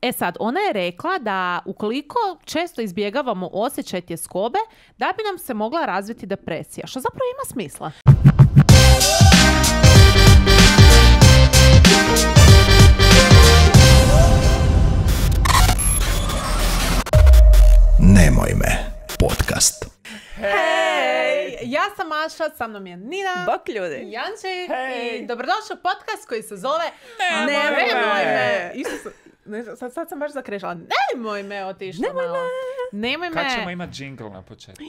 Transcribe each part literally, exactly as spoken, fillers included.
E sad, ona je rekla da ukoliko često izbjegavamo osjećaj tjeskobe, da bi nam se mogla razviti depresija, što zapravo ima smisla. Nemoj me, podcast. Hej! Ja sam Maša, sa mnom je Nina. Bok ljudi. Janči. Hej. I dobrodošli u podcast koji se zove Nemoj me. Nemoj me. Isus, ne, sad, sad sam baš zakrešala. Nemoj me otišla Nemoj malo. Nemoj me. Kad ćemo imati džingl na početku?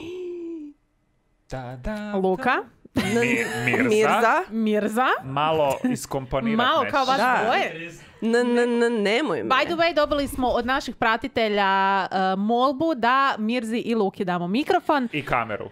Da, da, Luka. Mi, Mirza. Mirza. Mirza. Malo iskomponirat Malo nešto. kao vaš Da. dvoje. N, n, n, nemoj me. By the way, dobili smo od naših pratitelja uh, molbu da Mirzi i Luki damo mikrofon I kameru.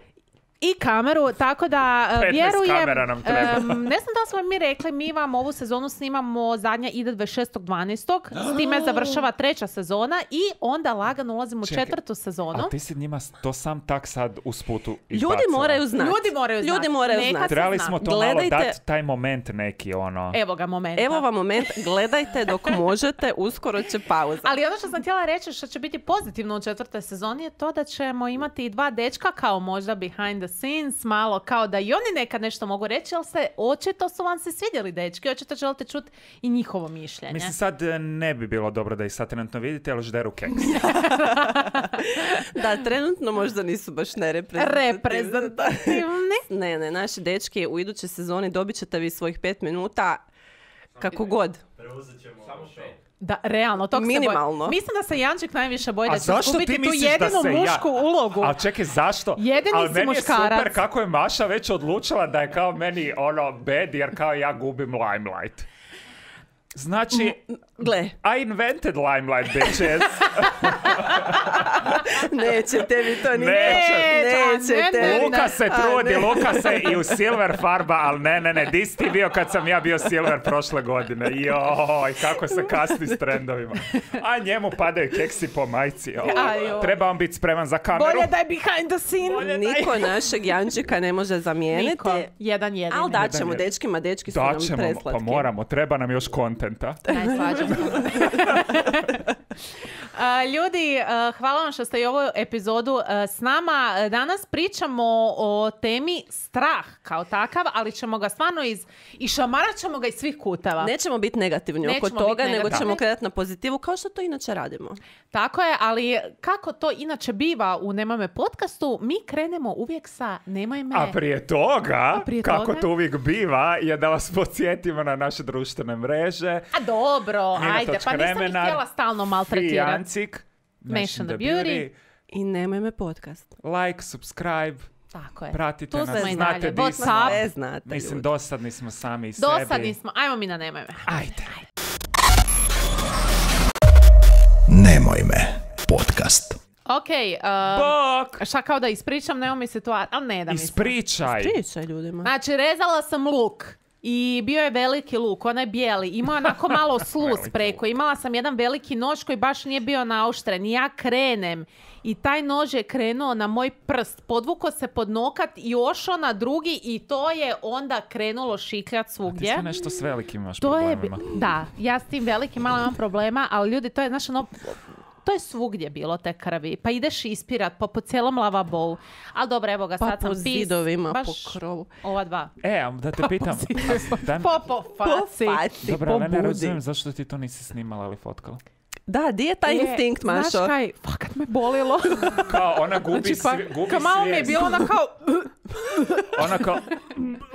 i kameru, tako da uh, petnaest vjerujem, kamera nam treba. um, ne znam da smo mi rekli, mi vam ovu sezonu snimamo, zadnja ide dvadeset šestog dvanaestog s time završava treća sezona i onda lagano ulazimo u Čekaj, četvrtu sezonu. A ti si njima to sam tak sad usput Ljudi izbacila. moraju znati. Ljudi moraju znati. Ljudi moraju Neka znati. se Trebali zna. smo to Gledajte- malo dati taj moment neki, ono. Evo ga momenta. Evo vam moment, gledajte dok možete, uskoro će pauza. Ali ono što sam htjela reći što će biti pozitivno u četvrtoj sezoni je to da ćemo imati i dva dečka kao možda behind the scenes, malo kao da i oni nekad nešto mogu reći, ali se očito su vam se svidjeli dečki, očito želite čuti i njihovo mišljenje. Mislim, sad eh, ne bi bilo dobro da ih sad trenutno vidite, ali žderu keks. Da, trenutno možda nisu baš nereprezentativni. Reprezentativni. Ne, ne, naši dečki u idućoj sezoni dobit ćete vi svojih pet minuta kako god. Da, realno, tog se Minimalno. boj... Mislim da se Jančik najviše boji da A će zašto izgubiti ti tu misliš da jedinu se ja- mušku ulogu. A čekaj, zašto? Jedini Ali si meni je muškarac. super kako je Maša već odlučila da je kao meni ono bad, jer kao ja gubim limelight. Znači, Gle, I invented limelight, bitches. nećete vi to ni Neće. Nećete. Ne, ne, ne. Luka se A, trudi, ne. Luka se i u silver farba, ali ne, ne, ne, di si ti bio kad sam ja bio silver prošle godine? Joj, kako se kasni s trendovima. A njemu padaju keksi po majci. Joj. Ajoj. Treba on biti spreman za kameru. Bolje da je behind the scene. Niko našeg Jančika ne može zamijeniti. Niko. Jedan jedini. Ali daćemo Jedan je- dečkima, dečki su nam Daćemo, preslatki. pa moramo, treba nam još kontenta. Najslađe. A, ljudi, a, hvala vam što ste i ovu epizodu a, s nama. A, Danas pričamo o temi strah kao takav, ali ćemo ga stvarno iz... I šamarat ćemo ga iz svih kuteva. Nećemo biti negativni oko Nećemo toga, biti nego negativni. ćemo kretati na pozitivu, kao što to inače radimo. Tako je, ali kako to inače biva u Nemoj me podcastu, mi krenemo uvijek sa Nemoj me... A prije toga, prije kako toga? to uvijek biva, je da vas podsjetimo na naše društvene mreže. A dobro, Nina ajde, točka pa nisam ih Remenar, htjela stalno maltretirati. Fijancik, Mention the beauty. I nemoj me podcast. Like, subscribe, Tako je. pratite Tu nas, smo i znate dalje. di smo. WhatsApp. Sve znate, Mislim, ljudi. dosadni smo sami i sebi. Dosadni smo. Ajmo mi na Nemoj me. Ajde. Nemoj me, podcast. Ok, uh, Bok! šta kao da ispričam, nema mi situacija, ali ne da mi se. Ispričaj. Pričaj ljudima. Znači, rezala sam luk i bio je veliki luk, onaj bijeli, imao je onako malo sluz Veliki preko, imala sam jedan veliki nož koji baš nije bio naoštren i ja krenem i taj nož je krenuo na moj prst, podvuko se pod nokat i ošao na drugi i to je onda krenulo šikljat Ti svugdje. sve nešto s velikim imaš To je, bi- problemima. da, ja s tim velikim malo imam problema, ali ljudi, to je, znaš, ono, to je svugdje bilo te krvi. Pa ideš ispirat, pa po cijelom lavabou. Ali dobro, evo ga, Pa sad sam po pis. zidovima, baš po krovu. ova dva. E, a da te pitam. a, daj mi- Po, po faci. faci, Dobro, po ali ne budi. razumijem zašto ti to nisi snimala ili fotkala. Da, di je taj Je, instinkt, Mašo? Znaš kaj, fakat me bolilo. Kao ona gubi, Znači, pa, svi- gubi kao malo mi je svijest. bilo ona kao... Ona kao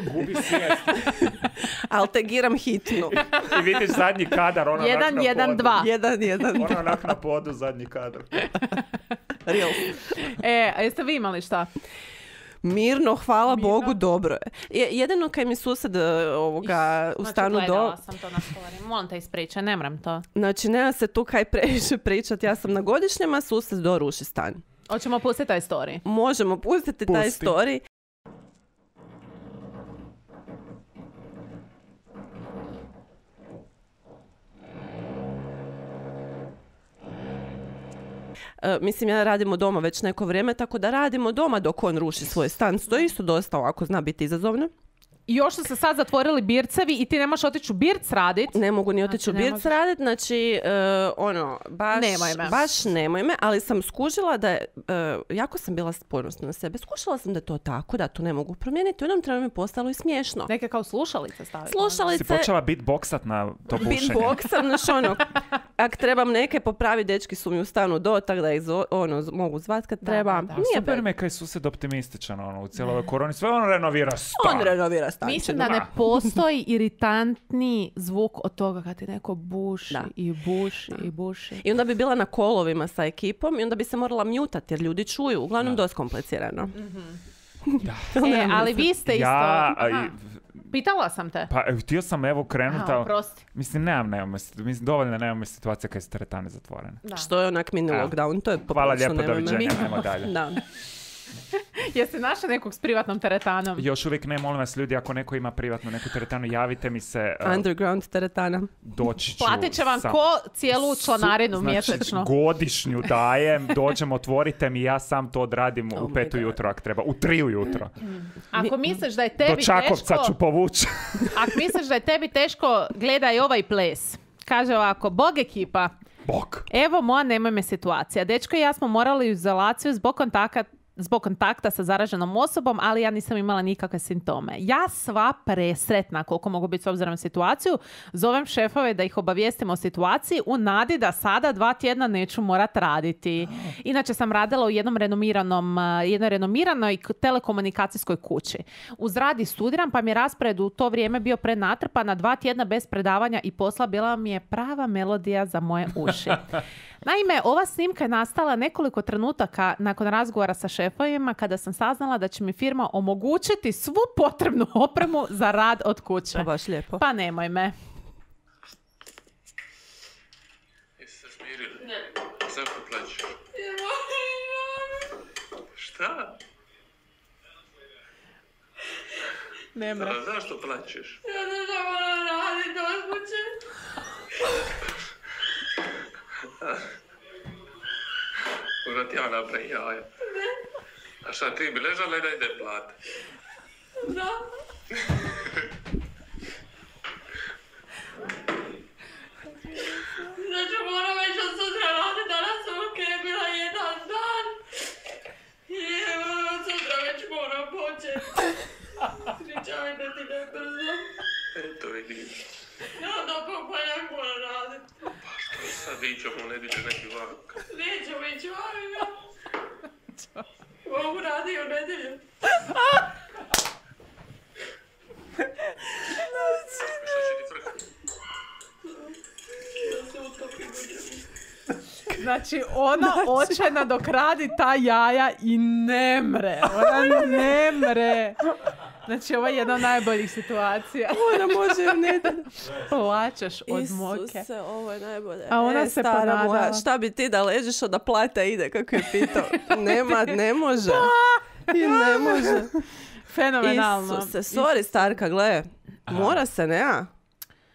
gubi svijest. Ali te giram hitnu. I vidiš zadnji kadar, ona Jedan, onak na jedan, podu. dva. Jedan, jedan. Ona onak na podu, zadnji kadar. Real. E, a jeste vi imali šta? Mirno, hvala Bogu, dobro je. Je- Jedino kaj mi sused e, ovoga u Znači, stanu gledala do... sam to na story. Molim te ispričaj, ne mram to. Znači, nema se tu kaj previše pričat. Ja sam na godišnjem, a sused do ruši stan. Hoćemo pustiti taj story. Možemo pustiti taj Pusti. story. E, mislim, ja radimo doma već neko vrijeme, tako da radimo doma dok on ruši svoj stan. To je isto dosta ovako, zna biti izazovno. I još su se sad zatvorili bircevi i ti ne možeš otići u birc radit. Ne mogu ni otići Znači, u ne birc možeš. radit, znači, uh, ono, baš, Nemoj me. baš nemoj me, ali sam skužila da je, uh, jako sam bila ponosna na sebe, skušala sam da je to tako, da to ne mogu promijeniti, u jednom trenutku mi postalo i smiješno. Neke kao slušalice staviti. Slušalice, Si počela beatboxat na to bušenje. beatboxam, znaš ono, ak trebam neke popravi, dečki su mi u stanu do, tak da ih zo- ono, z- mogu zvat kad Da, treba. da, da. Nije Super bad. mi je kaj susjed optimističan ono, u cijeloj ovoj koroni. Sve on renovira stan. On renovira stančinu. Mislim da ne postoji iritantni zvuk od toga kad ti neko buši Da. i buši i buši. I onda bi bila na kolovima sa ekipom i onda bi se morala mutati jer ljudi čuju. Uglavnom dosta komplicirano. E, ali vi ste isto... Ja, a, Aha. i- Pitala sam te. pa e, htio sam evo krenuti, Aha, ali- oprosti. mislim, nemam, nemam, mislim, dovoljno nemam situacija kad su teretane zatvorene. Da. Što je onak mini Evo. lockdown, to je Hvala poprilično lijepo, nemoj me. doviđenja, ajmo dalje. Da. Jeste našli nekog s privatnom teretanom? Još uvijek ne, molim vas ljudi, ako neko ima privatnu neku teretanu, javite mi se, uh, Underground teretana. doći ću. Platit će vam sam- ko cijelu članarinu Su- znači, mjesečno. godišnju dajem, dođem, otvorite mi, ja sam to odradim Oh u my pet God. ujutro ako treba, u tri ujutro. Ako misliš da je Do tebi Čakovca teško... ću povući. Ako misliš da je tebi teško, gledaj ovaj ples. Kaže ovako, Bog ekipa, Bok. evo moja nemoj me situacija. Dečko i ja smo morali u izolaciju zbog kontakta zbog kontakta sa zaraženom osobom, ali ja nisam imala nikakve simptome. Ja sva presretna, koliko mogu biti s obzirom na situaciju, zovem šefove da ih obavijestim o situaciji u nadi da sada dva tjedna neću morat raditi. Inače sam radila u jednom renomiranom, uh, jednoj renomiranoj k- telekomunikacijskoj kući. Uz rad i studiram, pa mi je raspored u to vrijeme bio prenatrpan, na dva tjedna bez predavanja i posla bila mi je prava melodija za moje uši. Naime, ova snimka je nastala nekoliko trenutaka nakon razgovora sa šefovima kada sam saznala da će mi firma omogućiti svu potrebnu opremu za rad od kuće. Pa baš lijepo. Pa nemoj me. Jesi se smirila? Ne. Zašto plaćeš? Šta? Ne mre. A zašto plaćeš? Ja ne znam ono radit od kuće. Možda ti ja napravim jaja. A šta ti bi ležala i da ide plata? Da. Znači moram već od sutra radit, danas sam ok, bila jedan dan. I evo od sutra već moram počet. Pričaj da ti ne brzo. Eto vidiš. Ja da popaljak moram radit. Pa što sad ićemo u nedjelju neki vak? Nećemo ići vanima. Mogu radi u nedjelju. Šta će ti frkati? Da se utopim u njemu. Znači, ona očajna dok radi ta jaja i ne mre. Ona ne mre. Znači, ovo je jedna od najboljih situacija. Ona može u nedjelju. Plaćaš od moke. Isuse, ovo je najbolje. A ona e, se stara ponadala. moja, šta bi ti da ležiš, a da plata ide, kako je pitao. Nema, ne može. I ne može. Fenomenalno. Isuse, sorry starka, gle. Mora se, ne, a?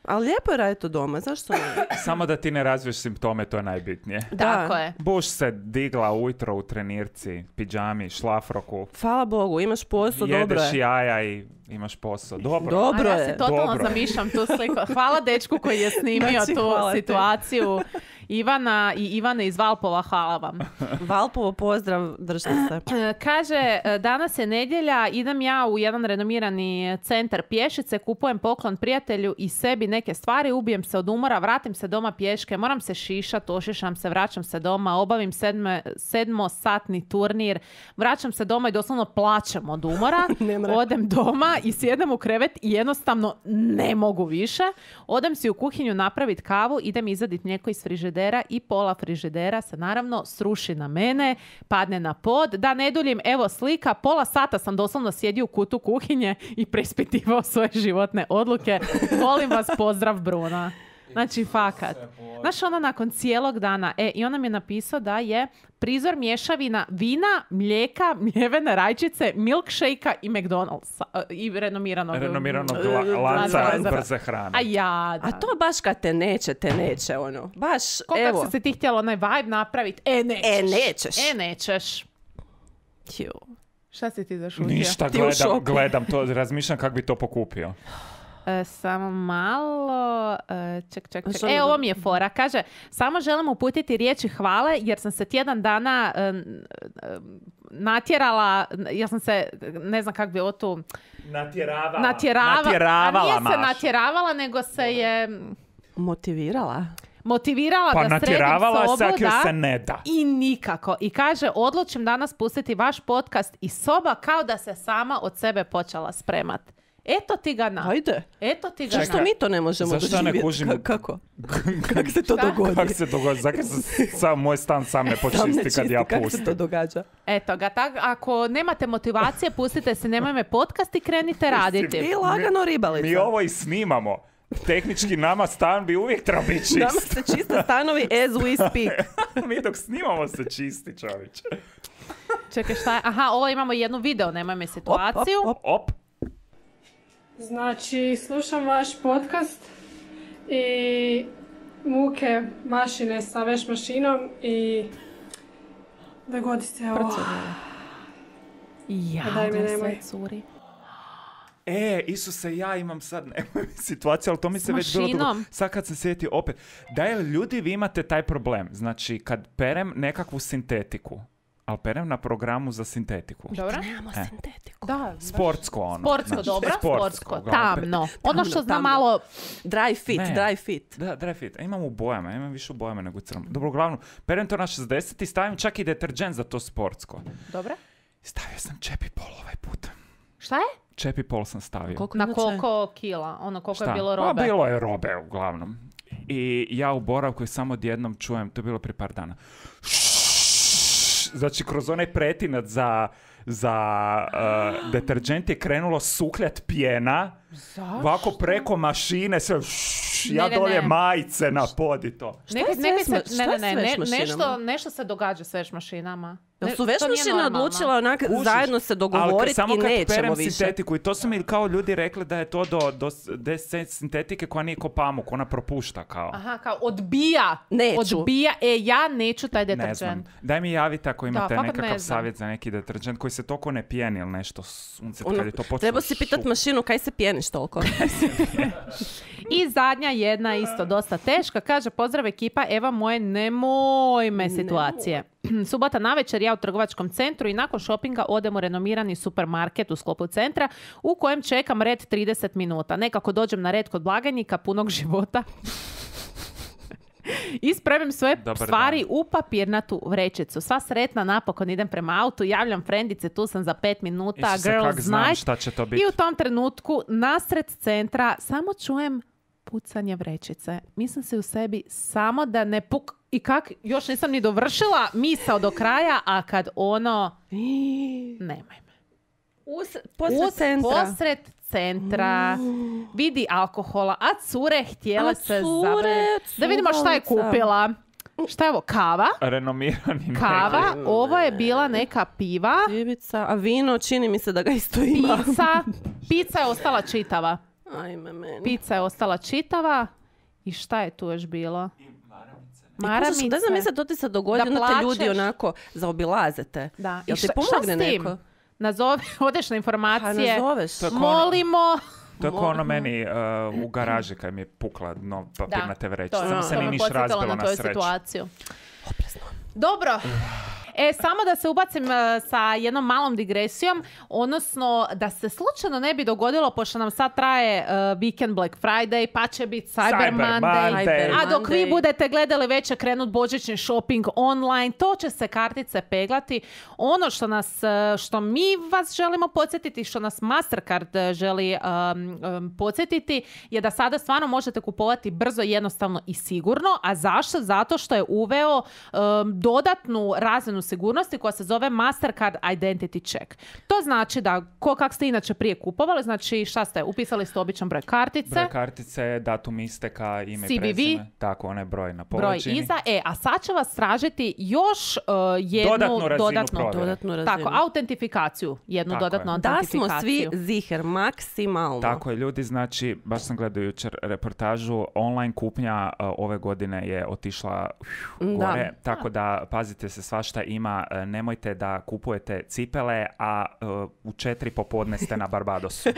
Ali lijepo je raditi to doma, zašto ne? Samo da ti ne razviješ simptome, to je najbitnije. Tako je. Buš se digla ujutro u trenirci, pidžami, šlafroku, Hvala Bogu, imaš posao, dobro jedeš je. jaja i imaš posao. Dobro. Dobro A ja je. se totalno Dobro. zamišljam tu sliku. Hvala dečku koji je snimio Znači, tu hvala ti. situaciju. Ivana i Ivane iz Valpova, hvala vam. Valpovo pozdrav, držite se. E, Kaže, e, danas je nedjelja, idem ja u jedan renomirani centar pješice, kupujem poklon prijatelju i sebi neke stvari, ubijem se od umora, vratim se doma pješke, moram se šišat, ošišam se, vraćam se doma, obavim sedme, sedmosatni turnir, vraćam se doma i doslovno plačem od umora, Ne mre. odem doma i sjedem u krevet i jednostavno ne mogu više, odem si u kuhinju napraviti kavu, idem izvaditi mlijeko iz frižidera i pola frižidera se naravno sruši na mene, padne na pod. Da ne duljim, evo slika, pola sata sam doslovno sjedio u kutu kuhinje i preispitivao svoje životne odluke. Volim vas, pozdrav Bruna. Znači, fakat. Znaš, ona nakon cijelog dana, e, i ona mi je napisao da je prizor mješavina vina, mlijeka, mljevene rajčice, milkshake-a i McDonald'sa. e, I renomiranog. Renomiranog E, la- lanca lanca. brze hrane. A ja, da. A to baš kad te neće, te neće, ono. Baš, Koliko evo. si se ti htjela onaj vibe napraviti? E, nećeš. E, nećeš. E, nećeš. Ju. Šta si ti zašutio? Ništa, Ti u gledam, šoku. gledam to, razmišljam kako bi to pokupio. E, samo malo, e, ček, ček, ček. Što E, da- ovo mi je fora. Kaže, samo želim uputiti riječi hvale jer sam se tjedan dana e, e, natjerala, ja sam se, ne znam kako bi ovo tu, Natjeravala. natjerava, Natjeravala, a nije se Maš. natjeravala, nego se je Motivirala. motivirala Pa da sredim natjeravala sobu, se, ako joj da, se ne da. i nikako. I kaže, odlučim danas pustiti vaš podcast i soba kao da se sama od sebe počela spremat. Eto ti ga na. Ajde. Eto ti ga Zašto na. mi to ne možemo Zašto ja ne doživjeti? kužim? Ka- kako? Kako se to Šta? dogodi? Kako se dogodi? Zakaj se sam moj stan sam ne Sam ne počisti kad čisti, ja kako se pustim? to događa? Eto ga, tak, ako nemate motivacije, pustite se, nemoj me podcast i krenite raditi. I lagano ribalica. Mi ovo i snimamo. Tehnički nama stan bi uvijek trebao biti čist. Nama se čiste stanovi as we speak. Mi dok snimamo se čisti, čovječe. Čekaj, šta je? Aha, ovo imamo jednu video, nemoj me situaciju. Op, op, Op. Znači, slušam vaš podcast i muke mašine sa veš mašinom i dogodi se ovo. Ja, Daj mi, gle, nemoj. sve curi. E, Isuse, ja imam sad nemoj mi situaciju, ali to mi se S već bilo dugo. mašinom. Sad kad se sjeti opet. Da je ljudi, vi imate taj problem. Znači, kad perem nekakvu sintetiku, ali perem na programu za sintetiku. Dobro? Nemamo E. sintetiku. Da, baš. Sportsko ono. Sportsko, Znači, dobro, sportsko, uglavnom. tamno. Ono što zna tamno. malo... Dry fit, Ne. dry fit. Da, dry fit. Imam u bojama, imam više u bojama nego u crnom. Dobro, uglavnom, perem to na šezdeset i stavim čak i deterđent za to sportsko. Dobro? Stavio sam čepi pol ovaj put. Šta je? Čepi pol sam stavio. Koliko Na inače? koliko kila? Ono, koliko Šta? je bilo robe? Pa bilo je robe uglavnom. I ja u boravku i samo odjednom čujem, to je bilo prije par dana. Znači, kroz onaj pretinac za, za uh, deterđent je krenulo sukljat pjena. Ovako preko mašine, sve ja Ne, ne, dolje ne. majice na pod i to. Šta Neka- je s neka veš se- ma- ne, šta ne, je s ne, veš ne, mašinama? nešto, nešto se događa s veš mašinama. Jel Ne, su veš to nije mašine normalno. odlučila onak Kužiš? zajedno se Ali dogovoriti samo i kad nećemo perem više? sintetiku i to su mi kao ljudi rekli da je to do, do, do sintetike koja nije ko pamuk, ona propušta kao. Aha, kao odbija. Neću. Odbija. E, ja neću taj Ne deterđent. znam. Daj mi javite ako imate fakat nekakav ne znam. savjet za neki deterđent koji se toliko ne pijeni ili nešto sunce Ono, kad je to počelo treba si pitat šup- mašinu kaj se pjeniš toliko. I zadnja jedna isto dosta teška. Kaže, pozdrav ekipa, Eva moje nemoj me situacije. Subota navečer ja u trgovačkom centru i nakon šopinga odem u renomirani supermarket u sklopu centra u kojem čekam red trideset minuta. Nekako dođem na red kod blagajnika punog života. I spremim sve Dobar stvari dan. u papirnatu vrećicu. Sva sretna napokon idem prema autu, javljam frendice, tu sam za pet minuta, Isuse, kak girls znam night. šta će to biti. I u tom trenutku nasred centra samo čujem pucanje vrećice. Mislim se u sebi samo da ne puk... I kak, još nisam ni dovršila misao do kraja, a kad ono... Nemoj me. Us, posred Uz- centra. Posred centra. Vidi alkohola, a cure htjele A se cure, zabaviti. Da vidimo šta je cugalica. kupila. Šta je ovo? Kava? Renomirani Kava. neki. Ovo je bila neka piva. Pivica, a vino čini mi se da ga isto ima. Pizza. Pizza je ostala čitava. Ajme meni. Pizza je ostala čitava. I šta je tu još bilo? Maramice. Ne znam, mislim, to ti se dogodi, Da onda te ljudi plačeš. onako zaobilazete. Da. Jel I ti šta, pomogne šta s tim? neko? Nazovi, odeš na Pa informacije. nazoveš. To je ko- Molimo. To je kao ono meni uh, u garaži kad mi je pukla dno papirnate vreće. to, Samo to se me nije niš podsjetilo razbilo na na tvoju sreću. situaciju. Dobro. E, samo da se ubacim e, sa jednom malom digresijom, odnosno da se slučajno ne bi dogodilo, pošto nam sad traje e, Weekend Black Friday, pa će biti Cyber, Cyber Monday, Monday. a dok vi Monday. budete gledali već će krenut božićni shopping online, to će se kartice peglati. Ono što nas, e, što mi vas želimo podsjetiti, što nas Mastercard e, želi um, um, podsjetiti, je da sada stvarno možete kupovati brzo, jednostavno i sigurno. A zašto? Zato što je uveo um, dodatnu razinu sigurnosti koja se zove Mastercard Identity Check. To znači da, ko kak ste inače prije kupovali, znači šta ste, upisali ste običan broj kartice, Broj kartice, datum isteka, ime i C B V. prezime. Tako, onaj broj na broj površini. iza, e, a sad će vas tražiti još uh, jednu Dodatnu razinu dodatnu, provjere. Dodatnu razinu. tako, autentifikaciju, jednu Tako dodatnu je. Da smo autentifikaciju. svi ziher, maksimalno. Tako je, ljudi, znači, baš sam gledao jučer reportažu, online kupnja uh, ove godine je otišla uf, Da. gore, tako da pazite se, svašta ima e, nemojte da kupujete cipele, a e, u četiri popodne ste na Barbadosu.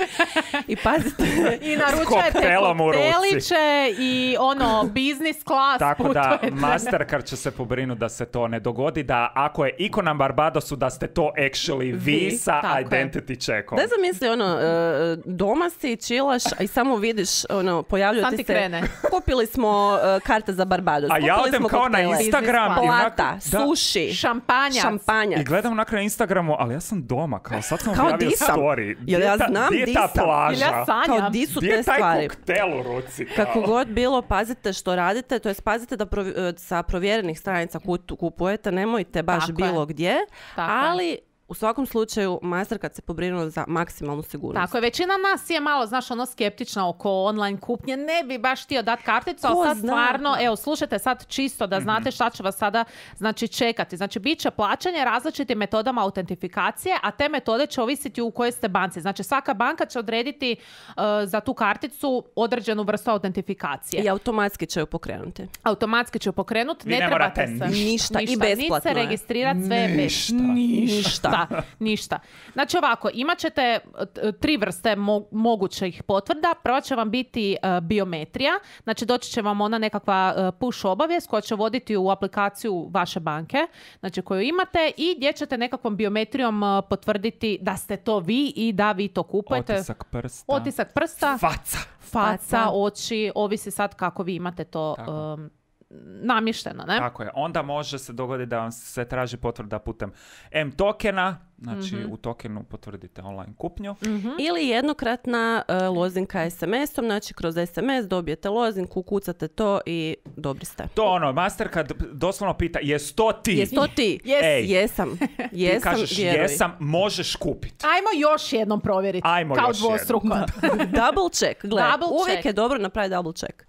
I pazite, I naručujete koktelom u ruci. kokteliće i ono, business class Tako da putujete. Mastercard će se pobrinuti da se to ne dogodi, da ako je iko na Barbadosu, da ste to actually vi, Vi, sa tako je. identity checkom. da zamisli ono, e, doma si, čilaš i samo vidiš, ono, pojavljuje Sam ti ti se, krene. kupili smo e, karte za Barbados, A ja kupili odem smo kao na koktele. Instagram i onak- Plata, da. sushi, Šampanjac. šampanjac. I gledam nakon na Instagramu, ali ja sam doma, kao sad sam Kao objavio di sam? story. Jel ja Di ta- znam di je di ta sam? plaža? Jel ja sanjam? Kao di su Di te je taj stvari? koktel u ruci? Kao? Kako god bilo, pazite što radite, to jest pazite da provi- sa provjerenih stranica kutu- kupujete, nemojte baš Tako je. bilo gdje, Tako je. ali u svakom slučaju Mastercard se pobrinuo za maksimalnu sigurnost. Tako je, većina nas je malo, znaš, ono skeptična oko online kupnje, ne bi baš htio dati karticu, ali Ko sad zna? stvarno, evo, slušajte sad čisto da znate šta će vas sada, znači, čekati. Znači, bit će plaćanje različitim metodama autentifikacije, a te metode će ovisiti u kojoj ste banci. Znači, svaka banka će odrediti uh, za tu karticu određenu vrstu autentifikacije. I automatski će ju pokrenuti. Automatski će ju pokrenuti, Vi ne, ne trebate morate se. ništa i besplatno Niti se je. registrirati, sve je besplatno. Ništa. Da, ništa. Znači ovako, imat ćete t- tri vrste mo- mogućih potvrda. Prva će vam biti e, biometrija. Znači doći će vam ona nekakva e, push obavijest koja će voditi u aplikaciju vaše banke, znači koju imate i gdje ćete nekakvom biometrijom e, potvrditi da ste to vi i da vi to kupujete. Otisak prsta. Otisak prsta, Faca. faca, Faca. oči, ovisi sad kako vi imate to Tako. um, namješteno, ne? Tako je. Onda može se dogoditi da vam se traži potvrda putem M tokena, znači u tokenu potvrdite online kupnju. Ili jednokratna e, lozinka es em esom, znači kroz es em es dobijete lozinku, kucate to i dobri ste. To ono, Mastercard doslovno pita, jes to ti? Jes to ti? Yes. Ej. Jesam. Ti Jesam, kažeš vjeruj. jesam, možeš kupiti. Ajmo još jednom provjeriti. Ajmo kao još dvostruko. Double check, gle. Double Uvijek check. je dobro napraviti double check.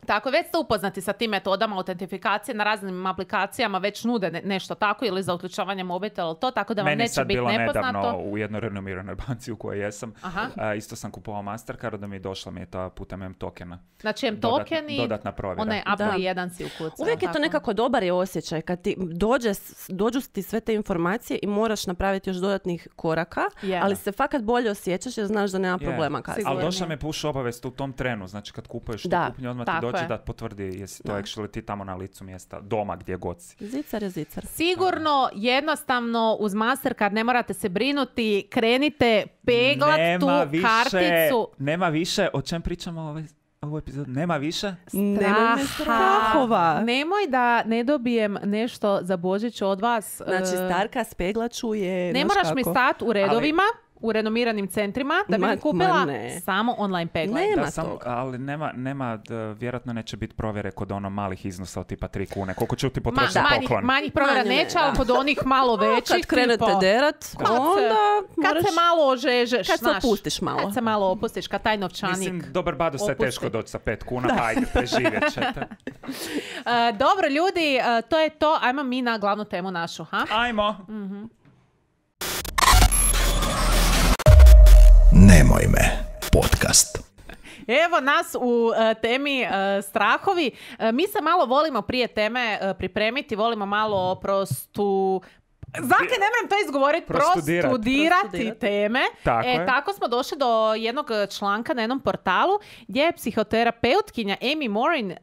Tako, već ste upoznati sa tim metodama autentifikacije, na raznim aplikacijama već nude ne- nešto tako ili za uključavanje mobitela ili to, tako da vam Meni neće sad biti bilo nepoznato. nedavno u jednoj renomiranoj banci u kojoj jesam. Aha. A, isto sam kupovao Mastercard, da mi je došla mi je ta putem M tokena. Znači, M Dodatna- token i dodatna provjera. onaj Apple Da. jedan si ukucao. Uvijek je to tako? nekako dobar je osjećaj kad ti dođe, s- dođu ti sve te informacije i moraš napraviti još dodatnih koraka, Je. ali se fakat bolje osjećaš jer znaš da nema Je. problema kasnije. Ali Sigurno. došla mi je push obavijest u tom trenu, znači kad kupuješ tu Da, kupnju, odmah ti tako dođe je. da potvrdi jesi to Da. actually ti tamo na licu mjesta, doma gdje god si. Zicar je zicar. Sigurno, jednostavno, uz Mastercard ne morate se brinuti, krenite peglat tu Nema više, karticu. nema više, o čem pričamo ovaj, ovu epizodu? Nema više? Nemoj me strahova. Nemoj da ne dobijem nešto za Božić od vas. Znači, E, starka spegla čuje. Ne znaš moraš mi kako. stati u redovima, u renomiranim centrima, da bi Ma- mi kupila ma ne. samo online peglaj. Ne. Nema Da, sam, toga. ali nema, nema d- vjerojatno neće biti provjere kod ono malih iznosa od tipa tri kune. Koliko će ti Ma, potrošiti manjih, poklon? manjih provjera Manje, neće, da. ali kod onih malo većih. Kad krenete tipa, derat, kad se- onda Kad moraš... se malo ožežeš, Kad se znaš. opustiš malo. Kad se malo opustiš, kad taj novčanik. Mislim, dobar bado se je opusti. teško doći sa pet kuna, pa ajde, preživjet ćete. E, dobro, ljudi, e, to je to. Ajmo mi na glavnu temu našu, ha? Ajmo. Nemoj me podcast. Evo nas u e, temi e, strahovi. E, mi se malo volimo prije teme e, pripremiti, volimo malo prostu... Zake, ne moram to izgovoriti, Prostudirat. prostudirati Prostudirati. teme. Tako e, je. tako smo došli do jednog članka na jednom portalu gdje je psihoterapeutkinja Amy Morin e,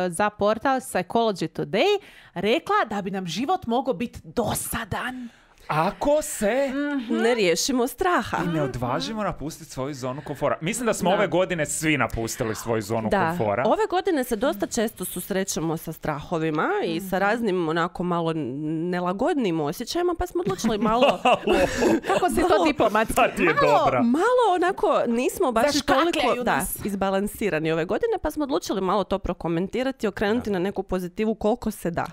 za portal Psychology Today rekla da bi nam život mogao biti dosadan. Ako se Ne riješimo straha. i ne odvažimo napustiti svoju zonu komfora. Mislim da smo ove godine svi napustili svoju zonu Da, komfora. ove godine se dosta često susrećemo sa strahovima i sa raznim onako malo nelagodnim osjećajima, pa smo odlučili malo, Kako si to diplomatski? Ta ti je Malo- dobra. malo onako nismo baš Zaškakljaju toliko da, nas. izbalansirani ove godine, pa smo odlučili malo to prokomentirati i okrenuti na neku pozitivu koliko se da.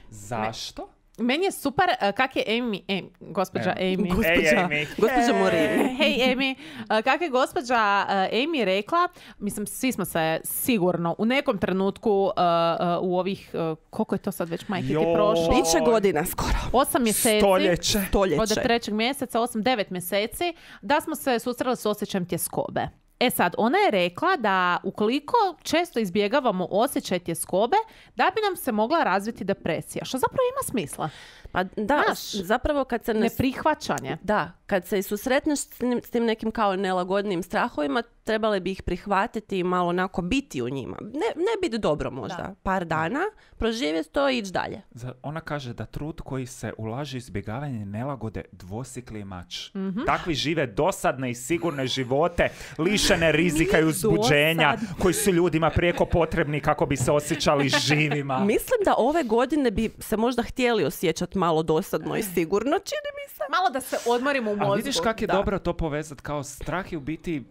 Zašto? Meni je super uh, kak je Amy, Amy gospođa Evo. Amy. Gospođa, Ej, Amy. gospođa Morin. E, hej Amy, uh, kak je gospođa uh, Amy rekla, mislim svi smo se sigurno u nekom trenutku uh, uh, u ovih, uh, koliko je to sad već majke ti Joj. prošlo? Biće godina skoro. Osam mjeseci. Stoljeće. Stoljeće. Od trećeg mjeseca, osam, devet mjeseci, da smo se susreli s osjećajem tjeskobe. E sad, ona je rekla da ukoliko često izbjegavamo osjećaj tjeskobe, da bi nam se mogla razviti depresija. Što zapravo ima smisla. Pa da, Znaš, zapravo kad se ne... Neprihvaćanje. Da, kad se i susretneš s tim, s tim nekim kao nelagodnim strahovima, trebale bi ih prihvatiti i malo onako biti u njima. Ne, ne biti dobro možda. Da. Par dana, proživjeti to i ići dalje. Za- Ona kaže da trud koji se ulaže u izbjegavanje nelagode dvosikli mač. Mhm. Takvi žive dosadne i sigurne živote, lišene rizika i uzbuđenja, koji su ljudima prijeko potrebni kako bi se osjećali živima. Mislim da ove godine bi se možda htjeli osjećati malo dosadno i sigurno, čini mi se. Malo da se odmorimo u mozgu. A vidiš kako je Da. dobro to povezati, kao strah je u biti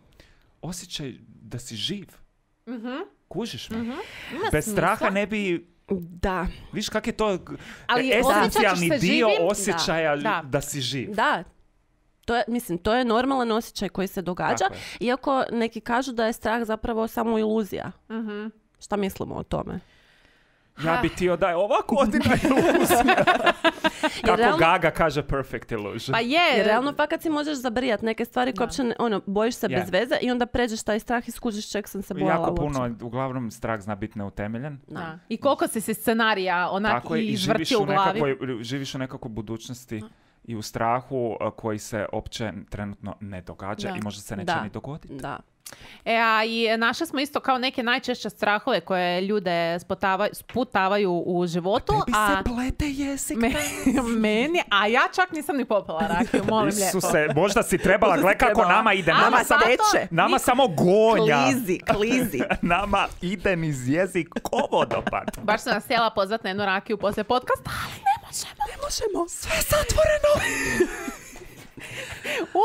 osjećaj da si živ. Kužiš me? Ima Bez smisla. straha ne bi... Da, Viš kak je to Ali esencijalni osjećaš se dio živim? osjećaja Da. da si živ. da. To je, mislim, to je normalan osjećaj koji se događa, Tako je. iako neki kažu da je strah zapravo samo iluzija. Šta mislimo o tome? Ja bi ti da je ova godina iluzija. Kako realno- Gaga kaže perfect illusion. Pa je. Jer realno fakat si možeš zabrijati neke stvari koje uopće ne, ono, bojiš se Je. bez veze i onda pređeš taj strah i skužiš čeg sam se bojala Jako uopće. puno, uglavnom strah zna biti neutemeljen. Da. I koliko si si scenarija onak Tako je, i i živiš izvrtio u, u glavi. nekakvoj, živiš u nekakvoj budućnosti i u strahu a, koji se opće trenutno ne događa Da. i možda se neće Da. ni dogoditi. Da. E, a i našli smo isto kao neke najčešće strahove koje ljude spotava, sputavaju u životu. Tebi a se plete jezik. me- meni, a ja čak nisam ni popila rakiju, molim lijepo. Isuse, možda si trebala, Možda gle si kako trebala. nama ide. A, Nama, ma samo, teče. nama samo gonja. Klizi, klizi. Nama ide niz jezik ko vodopad. Baš sam nas htjela pozvati na jednu rakiju poslije podcasta, ali ne možemo. Ne možemo. Sve je zatvoreno.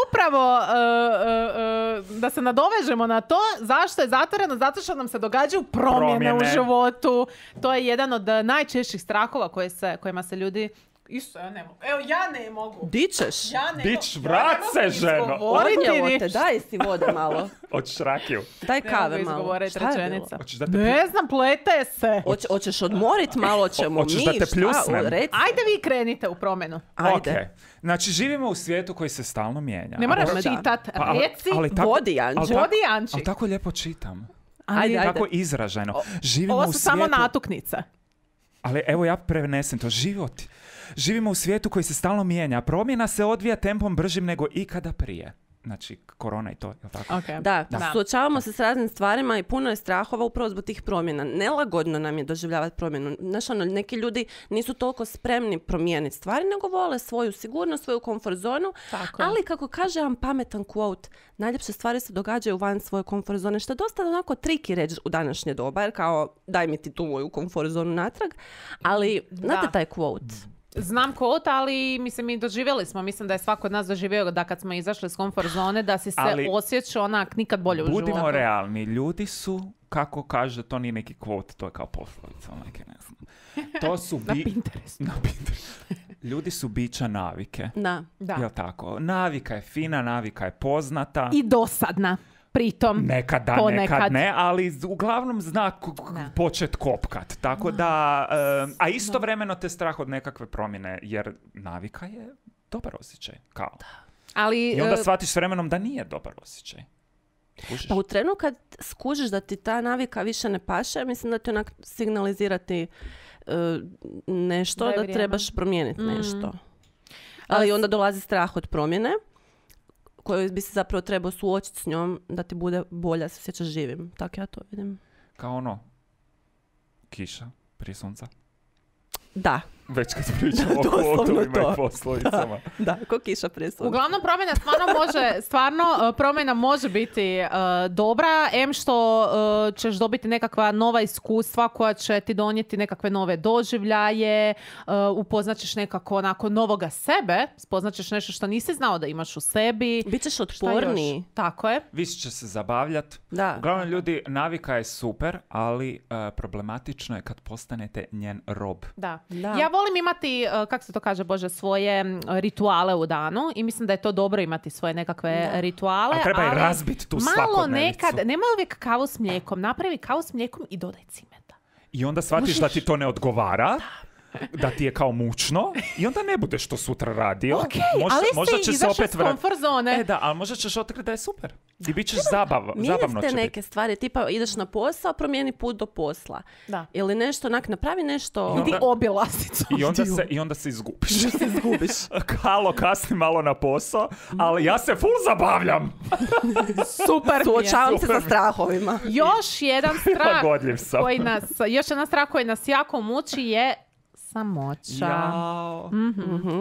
Upravo uh, uh, uh, da se nadovežemo na to, zašto je zatvoreno? Zato što nam se događaju promjene, u Promjene. životu. To je jedan od uh, najčešćih strahova koje se, kojima se ljudi... Isto, ja ne mogu. Evo, ja ne mogu. Di ćeš? Ja ne Dić, mogu. vrat Ja ne se, mogu ženo. izgovoriti Odnijelo te, ništa. daj si vode malo. Od šrakiju. Daj Ne kave mogu malo. izgovoriti Šta je bilo? rečenica. Hoćeš da te Ne znam, plete se. Hoć- hoćeš odmorit malo ćemo Hoćeš mi. da te šta? pljusnem? O, reci. Ajde vi krenite u promjenu. Ajde. Ok. Znači, živimo u svijetu koji se stalno mijenja. Ne moraš da. čitat, Pa, ali- reci. ali tako- Vodi, Janči. ali tako- Vodi, Janči. Ali tako lijepo čitam. Ajde, ajde. Tako izraženo. Živimo Ovo u su svijetu... samo natuknice. Ali evo ja prenesem to. Život. Živimo u svijetu koji se stalno mijenja. Promjena se odvija tempom bržim nego ikada prije. Znači, korona i to, jel tako? Okay. Da, Da. suočavamo se s raznim stvarima i puno je strahova upravo zbog tih promjena. Nelagodno nam je doživljavati promjenu. Znaš, ono, neki ljudi nisu toliko spremni promijeniti stvari, nego vole svoju sigurnost, svoju komfort zonu. Tako je. Ali, kako kaže jedan pametan quote, najljepše stvari se događaju van svoje komfort zone, što je dosta onako triki reći u današnje doba, jer kao, daj mi ti tu moju komfort zonu natrag. Ali, znate taj quote? Znam quote, ali mislim mi doživjeli smo, mislim da je svako od nas doživio da kad smo izašli iz komfort zone, da si se Ali osjećao onak nikad bolje u životu. Budimo realni. Ljudi su, kako kaže, to nije neki quote, to je kao poslovica. Neke, ne znam. To su Na bi... Pinterestu. Na Pinterestu. Ljudi su bića navike. Da. Da. Jel tako? Navika je fina, navika je poznata. I dosadna. Pritom. Nekad da, ponekad. nekad ne, ali z- uglavnom zna k- k- Da. počet kopkat. Tako da, em, a istovremeno te strah od nekakve promjene, jer navika je dobar osjećaj. Kao. Ali, I onda e, shvatiš s vremenom da nije dobar osjećaj. Kužiš? Pa u trenu kad skužiš da ti ta navika više ne paše, mislim da ti onak signalizirati e, nešto, Da je da, vrijeme. trebaš promijeniti Mm. nešto. Ali Ali s- onda dolazi strah od promjene, koji bi se zapravo trebao suočiti s njom da ti bude bolje, da se osjećaš živim. Tako ja to vidim. Kao ono, kiša prije sunca. Da, Već kad pričamo o Doslovno kvotovima to. i poslovicama. da, ko kiša prije sunca. uglavnom promjena stvarno može, stvarno uh, promjena može biti uh, dobra, em što uh, ćeš dobiti nekakva nova iskustva koja će ti donijeti nekakve nove doživljaje, uh, upoznaćeš nekako onako novoga sebe, spoznaćeš nešto što nisi znao da imaš u sebi. Bićeš Šta otporniji. još? Tako je. Više će se zabavljati. Da. Uglavnom ljudi, navika je super, ali uh, problematično je kad postanete njen rob. Da. Da. Ja volim imati, uh, kako se to kaže, Bože, svoje mm, rituale u danu i mislim da je to dobro imati svoje nekakve rituale. Ali treba i razbiti tu malo svakodnevicu. nekad, nemoj uvijek kavu s mlijekom, napravi kavu s mlijekom i dodaj cimeta. I onda shvatiš da ti to ne odgovara. da ti je kao mučno i onda ne budeš to sutra radio. Okay, možda, ali možda si će se izašao opet s vrat... komfort zone. E da, ali možda ćeš otkriti da je super. I bit ćeš zabav, zabavno Mijenjate će neke biti. stvari, tipa ideš na posao, promijeni put do posla. Da. Ili nešto, onak, napravi nešto... I onda- Idi obilaznicu. I onda se, i onda se izgubiš. se izgubiš. Halo, kasni malo na posao, ali ja se full zabavljam. Super mi je. Suočavam se sa strahovima. Još jedan strah Prilagodljiv sam. koji nas, još jedan strah koji nas jako muči je samoća. Jao.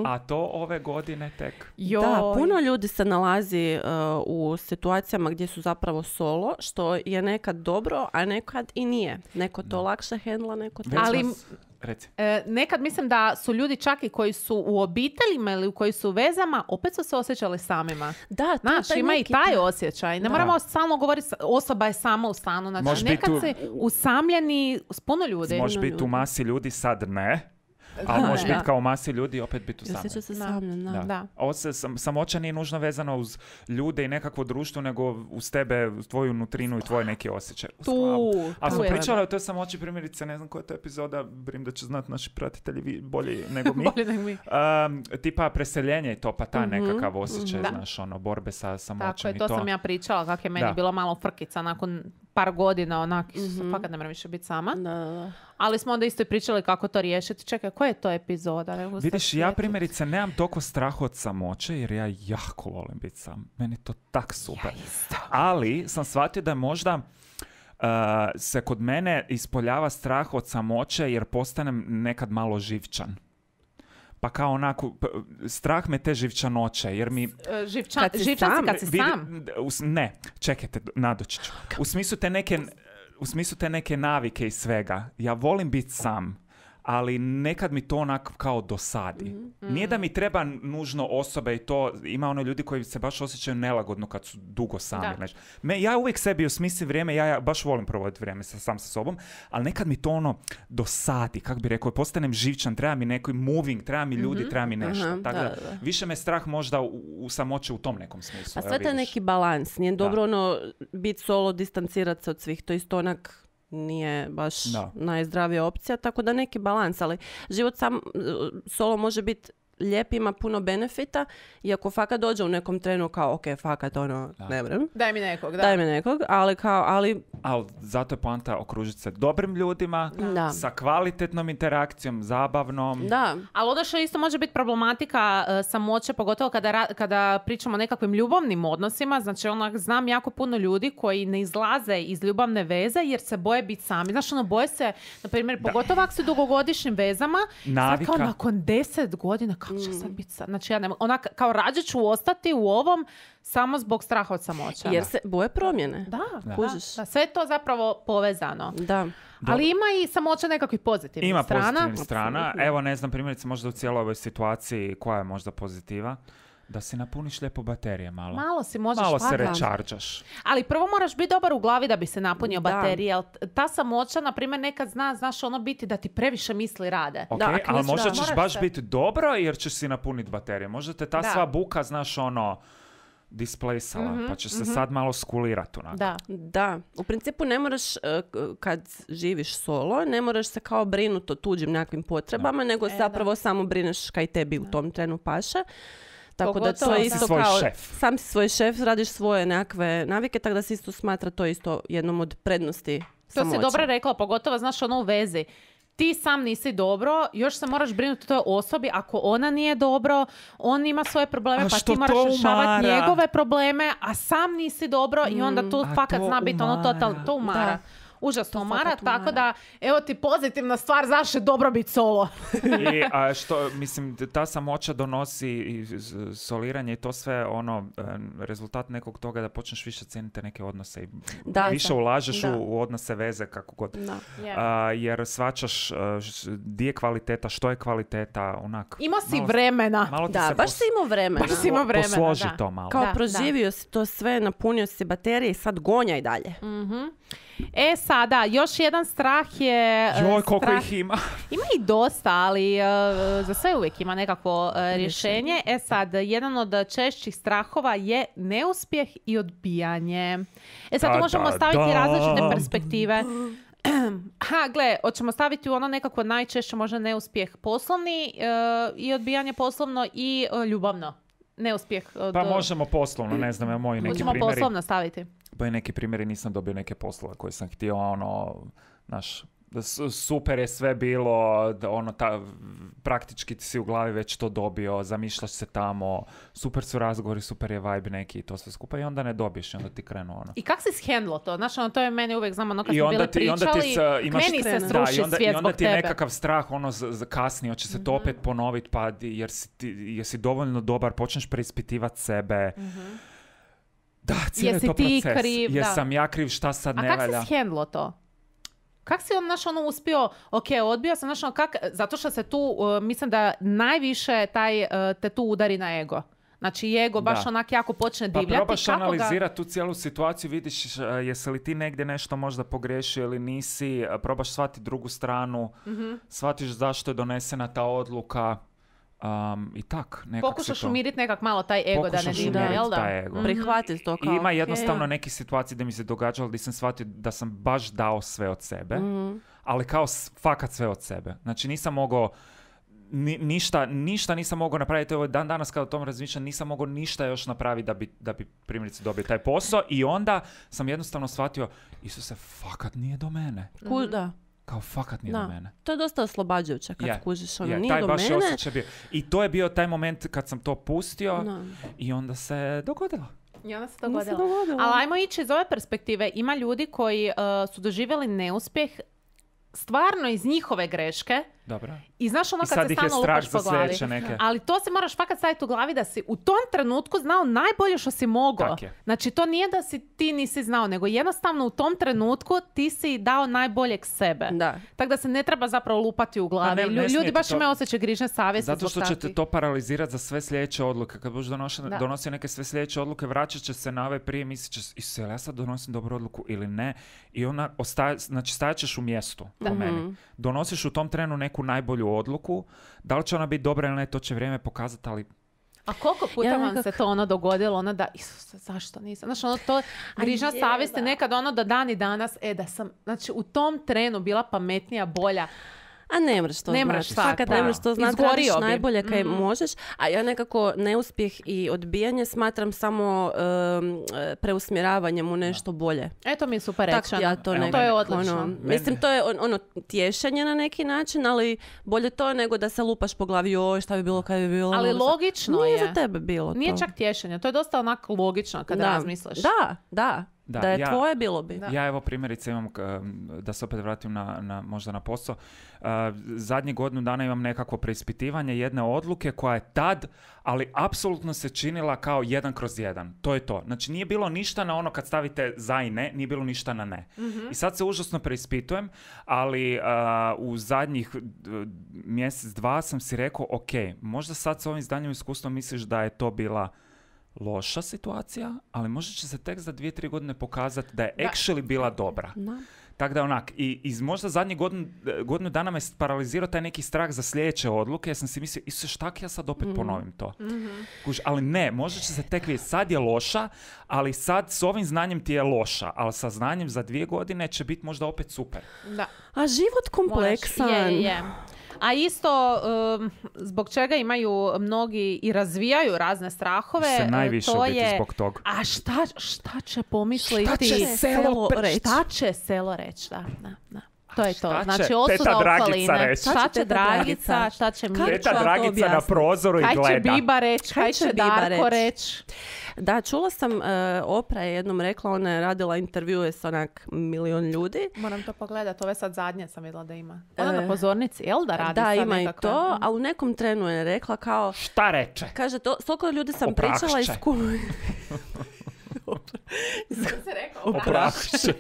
A to ove godine tek. Joj. Da, puno ljudi se nalazi uh, u situacijama gdje su zapravo solo, što je nekad dobro, a nekad i nije. Neko to lakše hendla, neko to... Već Ali- nas- Reci. E, nekad mislim da su ljudi čak i koji su u obiteljima ili u koji su u vezama, opet su se osjećali samima. Da, to je Znaš, taj ima i neki- taj osjećaj. Ne moramo stalno govoriti sa- osoba je sama u stanu. Znači, Može biti nekad u- si usamljeni s puno ljudi. Može biti u masi ljudi, sad ne. Ali Da, može da. biti kao u masi ljudi i opet biti u Osjeća samom. se Da. samljen, da. Da. Da. Ovo se, sam, samoća nije nužno vezano uz ljude i nekakvo društvo, nego uz tebe, uz tvoju nutrinu i tvoje neke osjećaje. Uz glavu. Tu, A tu smo je. pričali o toj samoći, primjerice, ne znam koja je to epizoda, brim da će znati naši pratitelji vi- bolje nego mi. Bolje nego mi. Um, tipa preseljenje i to, pa ta nekakav osjećaj, Da. znaš, ono, borbe sa samoćom Tako je, i to to. sam ja pričala, kako je meni Da. bilo malo frkica nakon par godina, onak, fakat ne moram više biti sama. Da, da, da. Ali smo onda isto i pričali kako to riješiti. Čekaj, koja je to epizoda? Ne mogu se Vidiš, ja sjetiti. primjerice nemam toliko straha od samoće, jer ja jako volim biti sam. Meni je to tak super. Ali sam shvatio da možda uh, se kod mene ispoljava strah od samoće jer postanem nekad malo živčan. Pa kao onako, p- strah me te živčanoće, jer mi... E, Živčan, Kad si živčan si sam, kad si vidi- sam. u s- ne, čekajte, nadoći ću. U smislu te neke, u smislu te neke navike i svega. Ja volim biti sam, ali nekad mi to onak kao dosadi. Nije da mi treba nužno osobe i to, ima ono ljudi koji se baš osjećaju nelagodno kad su dugo sami. Da. Znači, me, ja uvijek sebi osmislim vrijeme, ja, ja baš volim provoditi vrijeme sa, sam sa sobom, ali nekad mi to ono dosadi, kako bi rekao, postanem živčan, treba mi neki moving, treba mi ljudi, treba mi nešto. Aha, Tako da, da, da. više me strah možda u, u samoći u tom nekom smislu. A evo sve to je vidiš. neki balans. Nije dobro ono biti solo, distancirati se od svih. To isto onak nije baš Da. najzdravija opcija, tako da neki balans, ali život sam uh, solo može biti lijep, ima puno benefita i ako fakat dođe u nekom trenu kao ok, fakat ono, ne vrem, Daj mi nekog, da. daj me nekog, ali kao, ali Ali zato je poanta okružiti se dobrim ljudima, Da. sa kvalitetnom interakcijom, zabavnom. da, Ali ono što isto može biti problematika e, samoće, pogotovo kada, ra- kada pričamo o nekakvim ljubavnim odnosima, znači onak znam jako puno ljudi koji ne izlaze iz ljubavne veze jer se boje biti sami. Znaš, ono, boje se, na primjer, pogotovo ako su u dugogodišnjim vezama, sad Navika. kao nakon deset godina, kako će sad biti sad? Znači, ja ne mogu, onak, kao rađe ću ostati u ovom samo zbog straha od samoća. jer se boje promjene. Da, da, Kužiš. da, sve je to zapravo povezano. Da. Ali ima i samoća nekakvih pozitivnih Ima strana. pozitivnih strana. Evo, ne znam, primjerice možda u cijeloj ovoj situaciji koja je možda pozitiva, da si napuniš lijepo baterije malo. Malo si možeš Malo se fakat. rechargeaš. Ali prvo moraš biti dobar u glavi da bi se napunio Da. baterije. Jel t- ta samoća, na primjer, nekad zna, znaš, ono biti da ti previše misli rade. Ok, Da, ako ali nisi- možda da. ćeš Moraš baš se- biti dobro jer ćeš si napuniti baterije. Možda te ta Da. sva buka, znaš, ono, displejsala, pa će se sad malo skulirati onako. Da. Da, u principu ne moraš, uh, k- kad živiš solo, ne moraš se kao brinuti o tuđim nekakvim potrebama, nego zapravo samo brineš kaj tebi u tom trenu paše. Tako da Pogotovo to je sam isto svoj kao, šef. sam si svoj šef, radiš svoje nekakve navike, tako da se isto smatra to isto jednom od prednosti To samoće. si dobro rekla, pogotovo, znaš, ono u vezi. Ti sam nisi dobro, još se moraš brinuti o toj osobi. Ako ona nije dobro, on ima svoje probleme, A pa što ti moraš to rješavati umara? njegove probleme, a sam nisi dobro i onda tu A fakat to zna biti ono umara. totalno, to umara. Da. Užasno umara, fakat tako umara. da, evo ti pozitivna stvar, zašto je dobro biti solo. I a što, mislim, ta samoća donosi i s- soliranje i to sve ono, e, rezultat nekog toga da počneš više cijeniti neke odnose i Da, više da. ulažeš Da. u, u odnose, veze, kako god. Da. A, jer svačaš a, š- di je kvaliteta, što je kvaliteta, onak. Imao si malo- vremena. Malo ti Da, se baš pos- si imao vremena. Baš si imao vremena, posloži da. to malo. Kao Da, proživio si to sve, napunio si baterije i sad gonjaj dalje. E sada, još jedan strah je... e, Joj, koliko strah- ih ima. Ima i dosta, ali e, za sve uvijek ima nekakvo e, rješenje. E sad, jedan od češćih strahova je neuspjeh i odbijanje. E sad, tu Da, možemo da, staviti da. različite perspektive. Ha, gle, hoćemo staviti u ono nekako najčešće možda neuspjeh poslovni e, i odbijanje poslovno i e, ljubavno. Neuspjeh. Od, Pa možemo poslovno, ne znam, ja moji neki Možemo primjeri. poslovno staviti. Moji neki primjeri nisam dobio neke poslove koje sam htio, ono, znaš, da su- super je sve bilo, da ono, ta, praktički ti si u glavi već to dobio, zamišljaš se tamo, super su razgovori, super je vibe neki i to sve skupa i onda ne dobiješ i onda ti krenu ono. I kak si shendlo to? Znaš, ono, to je meni uvijek, znamo, ono kad I smo onda bili ti, i onda ti pričali, s- imaš, meni se Da, sruši i onda, svijet i onda zbog ti je tebe. nekakav strah ono z, z, kasnije, hoće se to opet ponoviti, pa di- jer si, ti, jesi dovoljno dobar, počneš preispitivati sebe. Da, cijeli Jesi to ti proces. kriv, da. Jesam ja kriv, šta sad A ne kak valja? si shendlo to? Kak si on, znaš, ono uspio, ok, odbio sam, znaš, ono, kak, zato što se tu, uh, mislim da najviše taj, uh, te tu udari na ego. Znači, ego baš Da. onak jako počne Pa divljati. probaš kako ga- analizirati tu cijelu situaciju, vidiš uh, jesi li ti negdje nešto možda pogriješio ili nisi, uh, probaš shvatiti drugu stranu, Mhm. shvatiš zašto je donesena ta odluka um, i tak. Nekak Pokušaš se to... umiriti nekak malo taj ego da ne Pokušaš divlja, umiriti jel da? taj ego. Mhm. Prihvatiti to I kao... ima ok, jednostavno ja. neke situacije gdje mi se događalo gdje sam shvatio da sam baš dao sve od sebe, Mhm. ali kao s- fakat sve od sebe. Znači nisam mogao ni- ništa, ništa nisam mogao napraviti. Ovo dan danas kada o tom razmišljam, nisam mogao ništa još napraviti da bi, da bi primjerice dobio taj posao i onda sam jednostavno shvatio, Isuse, fakat nije do mene. Ku- da. Kao fakat nije Da. do mene. To je dosta oslobađajuće kad Je, skužiš, ono, Je, nije taj do baš je mene. osjećaj bio. I to je bio taj moment kad sam to pustio Da. i onda se dogodilo. I onda se Onda se dogodilo. dogodilo. Ali ajmo ići iz ove perspektive. Ima ljudi koji uh, su doživjeli neuspjeh stvarno iz njihove greške. Dobro. I znaš ono I kad sad se ih je stalno strah lupaš po za glavi. sljedeće neke. Ali to se moraš fakat staviti u glavi da si u tom trenutku znao najbolje što si mogao. Tak je. Znači to nije da si ti nisi znao, nego jednostavno u tom trenutku ti si dao najboljeg sebe. Da. Tako da se ne treba zapravo lupati u glavi. ne- ne Lju- Ljudi smijete baš to- imaju osjećaj grižne savjesti Zato zbog što će te takvih. to paralizirati za sve sljedeće odluke. Kad budeš donošen- Da. donosio neke sve sljedeće odluke, vraćat će se na ove prije, mislit će, Isuse, jel ja sad donosim dobru odluku ili ne? I ona ostaje, znači stajat ćeš u mjestu, po meni. Donosiš u tom trenu neku najbolju odluku, da li će ona biti dobra ili ne, to će vrijeme pokazati, ali A koliko puta Ja vam nekak- se to ono dogodilo, ono da, Isuse, zašto nisam? Znači, ono to, grižna je, savjest je da. nekad ono da dan i danas, e, da sam, znači, u tom trenu bila pametnija, bolja. A ne mreš to Ne znati. mreš sad, Fakat pa. ne mreš to znati, Izgorio radiš bi. najbolje kaj Mhm. možeš. A ja nekako neuspjeh i odbijanje smatram samo um, e, preusmjeravanjem u nešto bolje. Eto mi je super Tako rečeno. ja to Evo, nekako, To je odlično. ono, mislim, to je on- ono tješenje na neki način, ali bolje to nego da se lupaš po glavi, joj, šta bi bilo kad bi bilo. Ali ono, sad- logično Nije je. za tebe bilo Nije to. čak tješenje, to je dosta onako logično kad Da. razmisliš. Da, da. Da, Da, je ja- tvoje, bilo bi. Da. ja evo primjerice imam, k- da se opet vratim na, na, možda na posao, uh, zadnje godinu dana imam nekakvo preispitivanje jedne odluke koja je tad, ali apsolutno se činila kao jedan kroz jedan. To je to. Znači nije bilo ništa na ono kad stavite za i ne, nije bilo ništa na ne. I sad se užasno preispitujem, ali uh, u zadnjih uh, mjesec, dva sam si rekao, ok, možda sad s ovim znanjem i iskustvom misliš da je to bila loša situacija, ali možda će se tek za dvije, tri godine pokazati da je Da. actually bila dobra. Da. Tako da onak, i iz možda zadnjih godinu, godinu dana me paralizirao taj neki strah za sljedeće odluke, jer sam si mislio, Isuse, šta ako ja sad opet ponovim to? Kuž, ali ne, možda će se tek vidjeti, sad je loša, ali sad s ovim znanjem ti je loša, ali sa znanjem za dvije godine će biti možda opet super. Da. A život kompleksan. Moraš, je, je. A isto, um, zbog čega imaju mnogi i razvijaju razne strahove, Se najviše to u biti je... zbog toga. A šta, šta će pomisliti? Šta će selo reći? Šta će selo reći, da, da, da. To je to. šta će Znači, teta osuda Dragica okoline. reći? Šta Šta će će teta Dragica, Dragica? šta će Kako Mirko, ću Teta vam to Dragica na objasniti? prozoru i kaj će gleda. Biba reći, Kaj kaj će će Biba Darko reći? reći. Da, čula sam, uh, Oprah je jednom rekla, ona je radila intervjue s onak milion ljudi. Moram to pogledati, ove sad zadnje sam vidjela da ima. Ona E, na pozornici, jel da radi Da, sad ima i nekakve? to, a u nekom trenu je rekla kao, Šta reče? kaže, to, s toliko ljudi sam Oprahšće. pričala iz ku... se rekao? Oprahšće.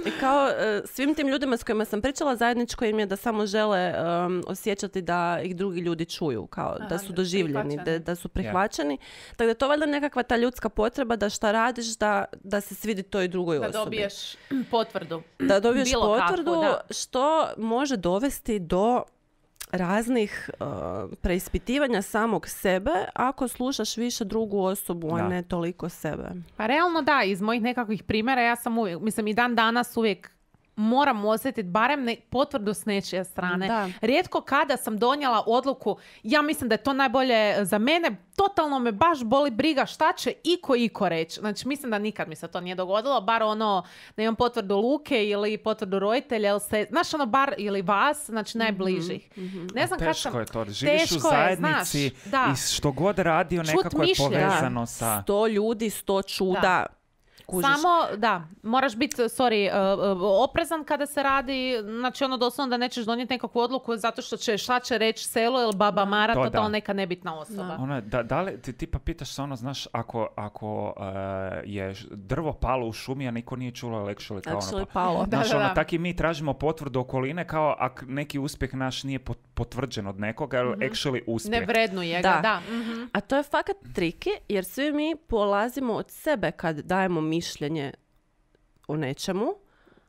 I kao e, svim tim ljudima s kojima sam pričala, zajedničko im je da samo žele um, osjećati da ih drugi ljudi čuju, kao Aha, da su da- doživljeni, da, prihvaćeni. da su prihvaćeni. Tako da je to valjda nekakva ta ljudska potreba da šta radiš, da, da se svidi toj drugoj Da osobi. dobiješ potvrdu. Da dobiješ Bilo kakvu, potvrdu, da. što može dovesti do raznih uh, preispitivanja samog sebe ako slušaš više drugu osobu, Da. a ne toliko sebe. Pa realno da, iz mojih nekakvih primjera ja sam uvijek, mislim i dan danas uvijek moram osjetiti barem ne, potvrdu s nečije strane. Da. Rijetko kada sam donijela odluku, ja mislim da je to najbolje za mene, totalno me baš boli briga šta će iko iko reći. Znači mislim da nikad mi se to nije dogodilo, bar ono da imam potvrdu Luke ili potvrdu roditelja, ili se, znaš ono bar ili vas, znači najbližih. Ne znam kad Teško sam... je to. Živiš u Teško je, zajednici znaš, da. i što god radio Čut nekako je mišljenja. povezano sa... Sto ljudi, sto čuda. Da. Kužiš? Samo, da, moraš biti, sorry, uh, uh, oprezan kada se radi, znači ono doslovno da nećeš donijeti nekakvu odluku zato što će, šta će reći selo ili baba Mara, To to, da. to neka nebitna osoba. Ono, da, da li, ti tipa pitaš se ono, znaš, ako, ako uh, je ž- drvo palo u šumi, a niko nije čulo actually kao Actually ono, palo. Da, znaš, da, ono, da. tak i mi tražimo potvrdu okoline kao ak neki uspjeh naš nije pot- potvrđen od nekoga, ali actually uspjeh. Ne vrednuje ga, Da. da. mhm. A to je fakat triki, jer svi mi polazimo od sebe kad dajemo mišljenje o nečemu.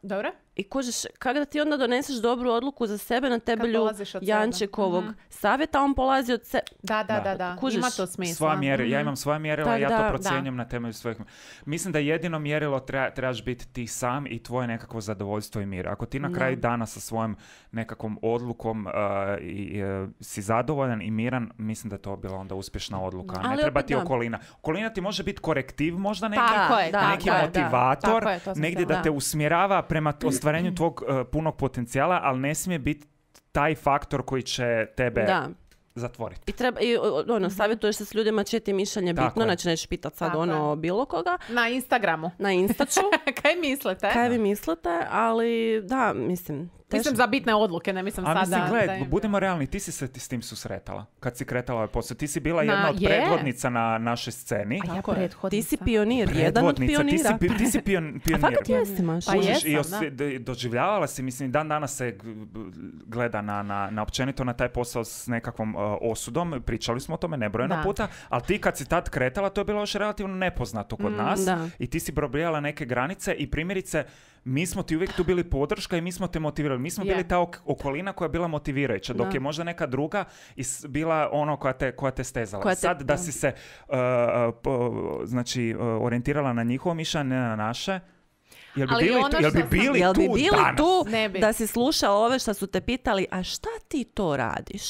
Dobro? I kužiš, kako da ti onda doneseš dobru odluku za sebe na temelju polaziš od sebe. Jančikovog savjeta, on polazi od sebe. Da, da, Da. da, da. Kužiš, Ima to smisla. Svoja mjera, ja Mhm. imam svoja mjerila, Tak ja da, to da. procjenjujem na temelju svojih... Mislim da jedino mjerilo treba, trebaš biti ti sam i tvoje nekakvo zadovoljstvo i mir. Ako ti na Da. kraju dana sa svojom nekakvom odlukom uh, i, uh, si zadovoljan i miran, mislim da je to bila onda uspješna odluka. Ne Ali treba opet ti da. okolina. Okolina ti može biti korektiv možda negdje, Tako je, Da, tako neki da, je. motivator, Tako je, to sam negdje htjela. da te usmjerava prema t- ostvarenju tvog uh, punog potencijala, ali ne smije biti taj faktor koji će tebe Da. zatvoriti. I, treba, i o- ono, savjetuješ se s ljudima čije ti je mišljenje Tako bitno, je. znači nećeš pitat sad Tako ono je. bilo koga. Na Instagramu. Na Instaču, Kaj mislite? kaj vi mislite, ali da, mislim, teško. Mislim za bitne odluke, ne mislim A sad mislim, da... gled, da im- budimo realni, ti si se ti s tim susretala. Kad si kretala ovaj posao, ti si bila Na- jedna od je. predvodnica na našoj sceni. A ja Tako je. prethodnica. Ti si pionir, jedan od Predvodnica, ti si, pionira. pi- ti si pion, A pionir. fakat jesi, Maša. Pa Kužiš, jesam, i da. osvi- d- doživljavala si, mislim, dan danas se g- b- gleda na, na, na općenito na taj posao s nekakvom uh, osudom. Pričali smo o tome nebrojeno Da. puta, ali ti kad si tad kretala, to je bilo još relativno nepoznato kod nas. da. I ti si probrijala neke granice i primjerice, mi smo ti uvijek tu bili podrška i mi smo te motivirali. Mi smo Je. bili ta ok- okolina koja je bila motivirajuća, dok Da. je možda neka druga is- bila ono koja te, koja te stezala. Koja te- Sad da da. si se uh, po- znači, uh, orijentirala na njihovo mišljenje, ne na naše, jel bi Ali bili, ono tu, jel bi što sam- bili Jel bi tu bili danas? tu Ne bi. da si slušao ove što su te pitali, a šta ti to radiš?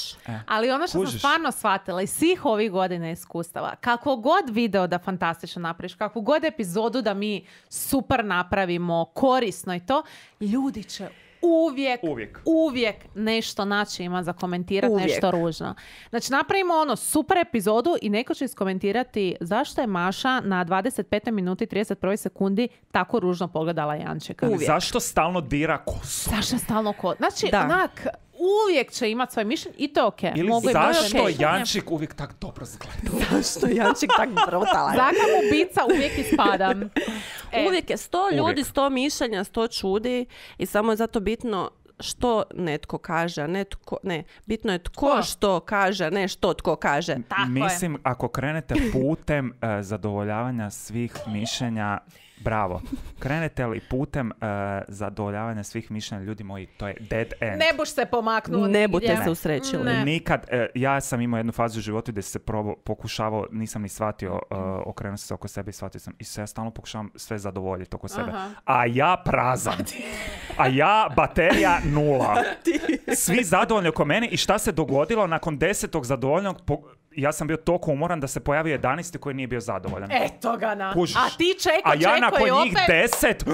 Ali ono što Kužiš. sam stvarno shvatila iz svih ovih godina iskustava, kako god video da fantastično napraviš, kakvu god epizodu da mi super napravimo, korisno i to, ljudi će uvijek, Uvijek. uvijek nešto naći ima za komentirati, Uvijek. nešto ružno. Znači napravimo ono super epizodu i neko će iskomentirati zašto je Maša na dvadeset petoj minuti i trideset prvoj sekundi tako ružno pogledala Jančeka. Uvijek. Zašto stalno dira kosu? Zašto je stalno ko... Znači, Da. onak, uvijek će imati svoje mišljenje i to je okej. Ili Mogu i moje zašto okej. Jančik uvijek tak dobro zgleda? Zašto je Jančik tak brutalan? Zakam ubica uvijek ispadam. E, Uvijek je sto ljudi, Uvijek. sto mišljenja, sto čudi i samo je zato bitno što netko kaže, a ne tko, ne, bitno je tko Ko? što kaže, a ne što tko kaže. Tako je. Mislim, ako krenete putem eh, zadovoljavanja svih mišljenja, bravo. Krenete li putem eh, zadovoljavanja svih mišljenja, ljudi moji, to je dead end. Ne buš se pomaknuo Ne nigdje. budete se usrećili. Ne. Nikad, e, ja sam imao jednu fazu u životu gdje se probo, pokušavao, nisam ni shvatio, uh, okrenuo sam se oko sebe i shvatio sam. I sve ja stalno pokušavam sve zadovoljiti oko sebe. Aha. A ja prazan. A ja baterija nula. Svi zadovoljni oko mene i šta se dogodilo nakon desetog zadovoljnog, po, ja sam bio toliko umoran da se pojavio jedanaesti koji nije bio zadovoljan. Eto ga na. Kužiš. A ti čeko, A ja čeko nakon i njih opet... deset...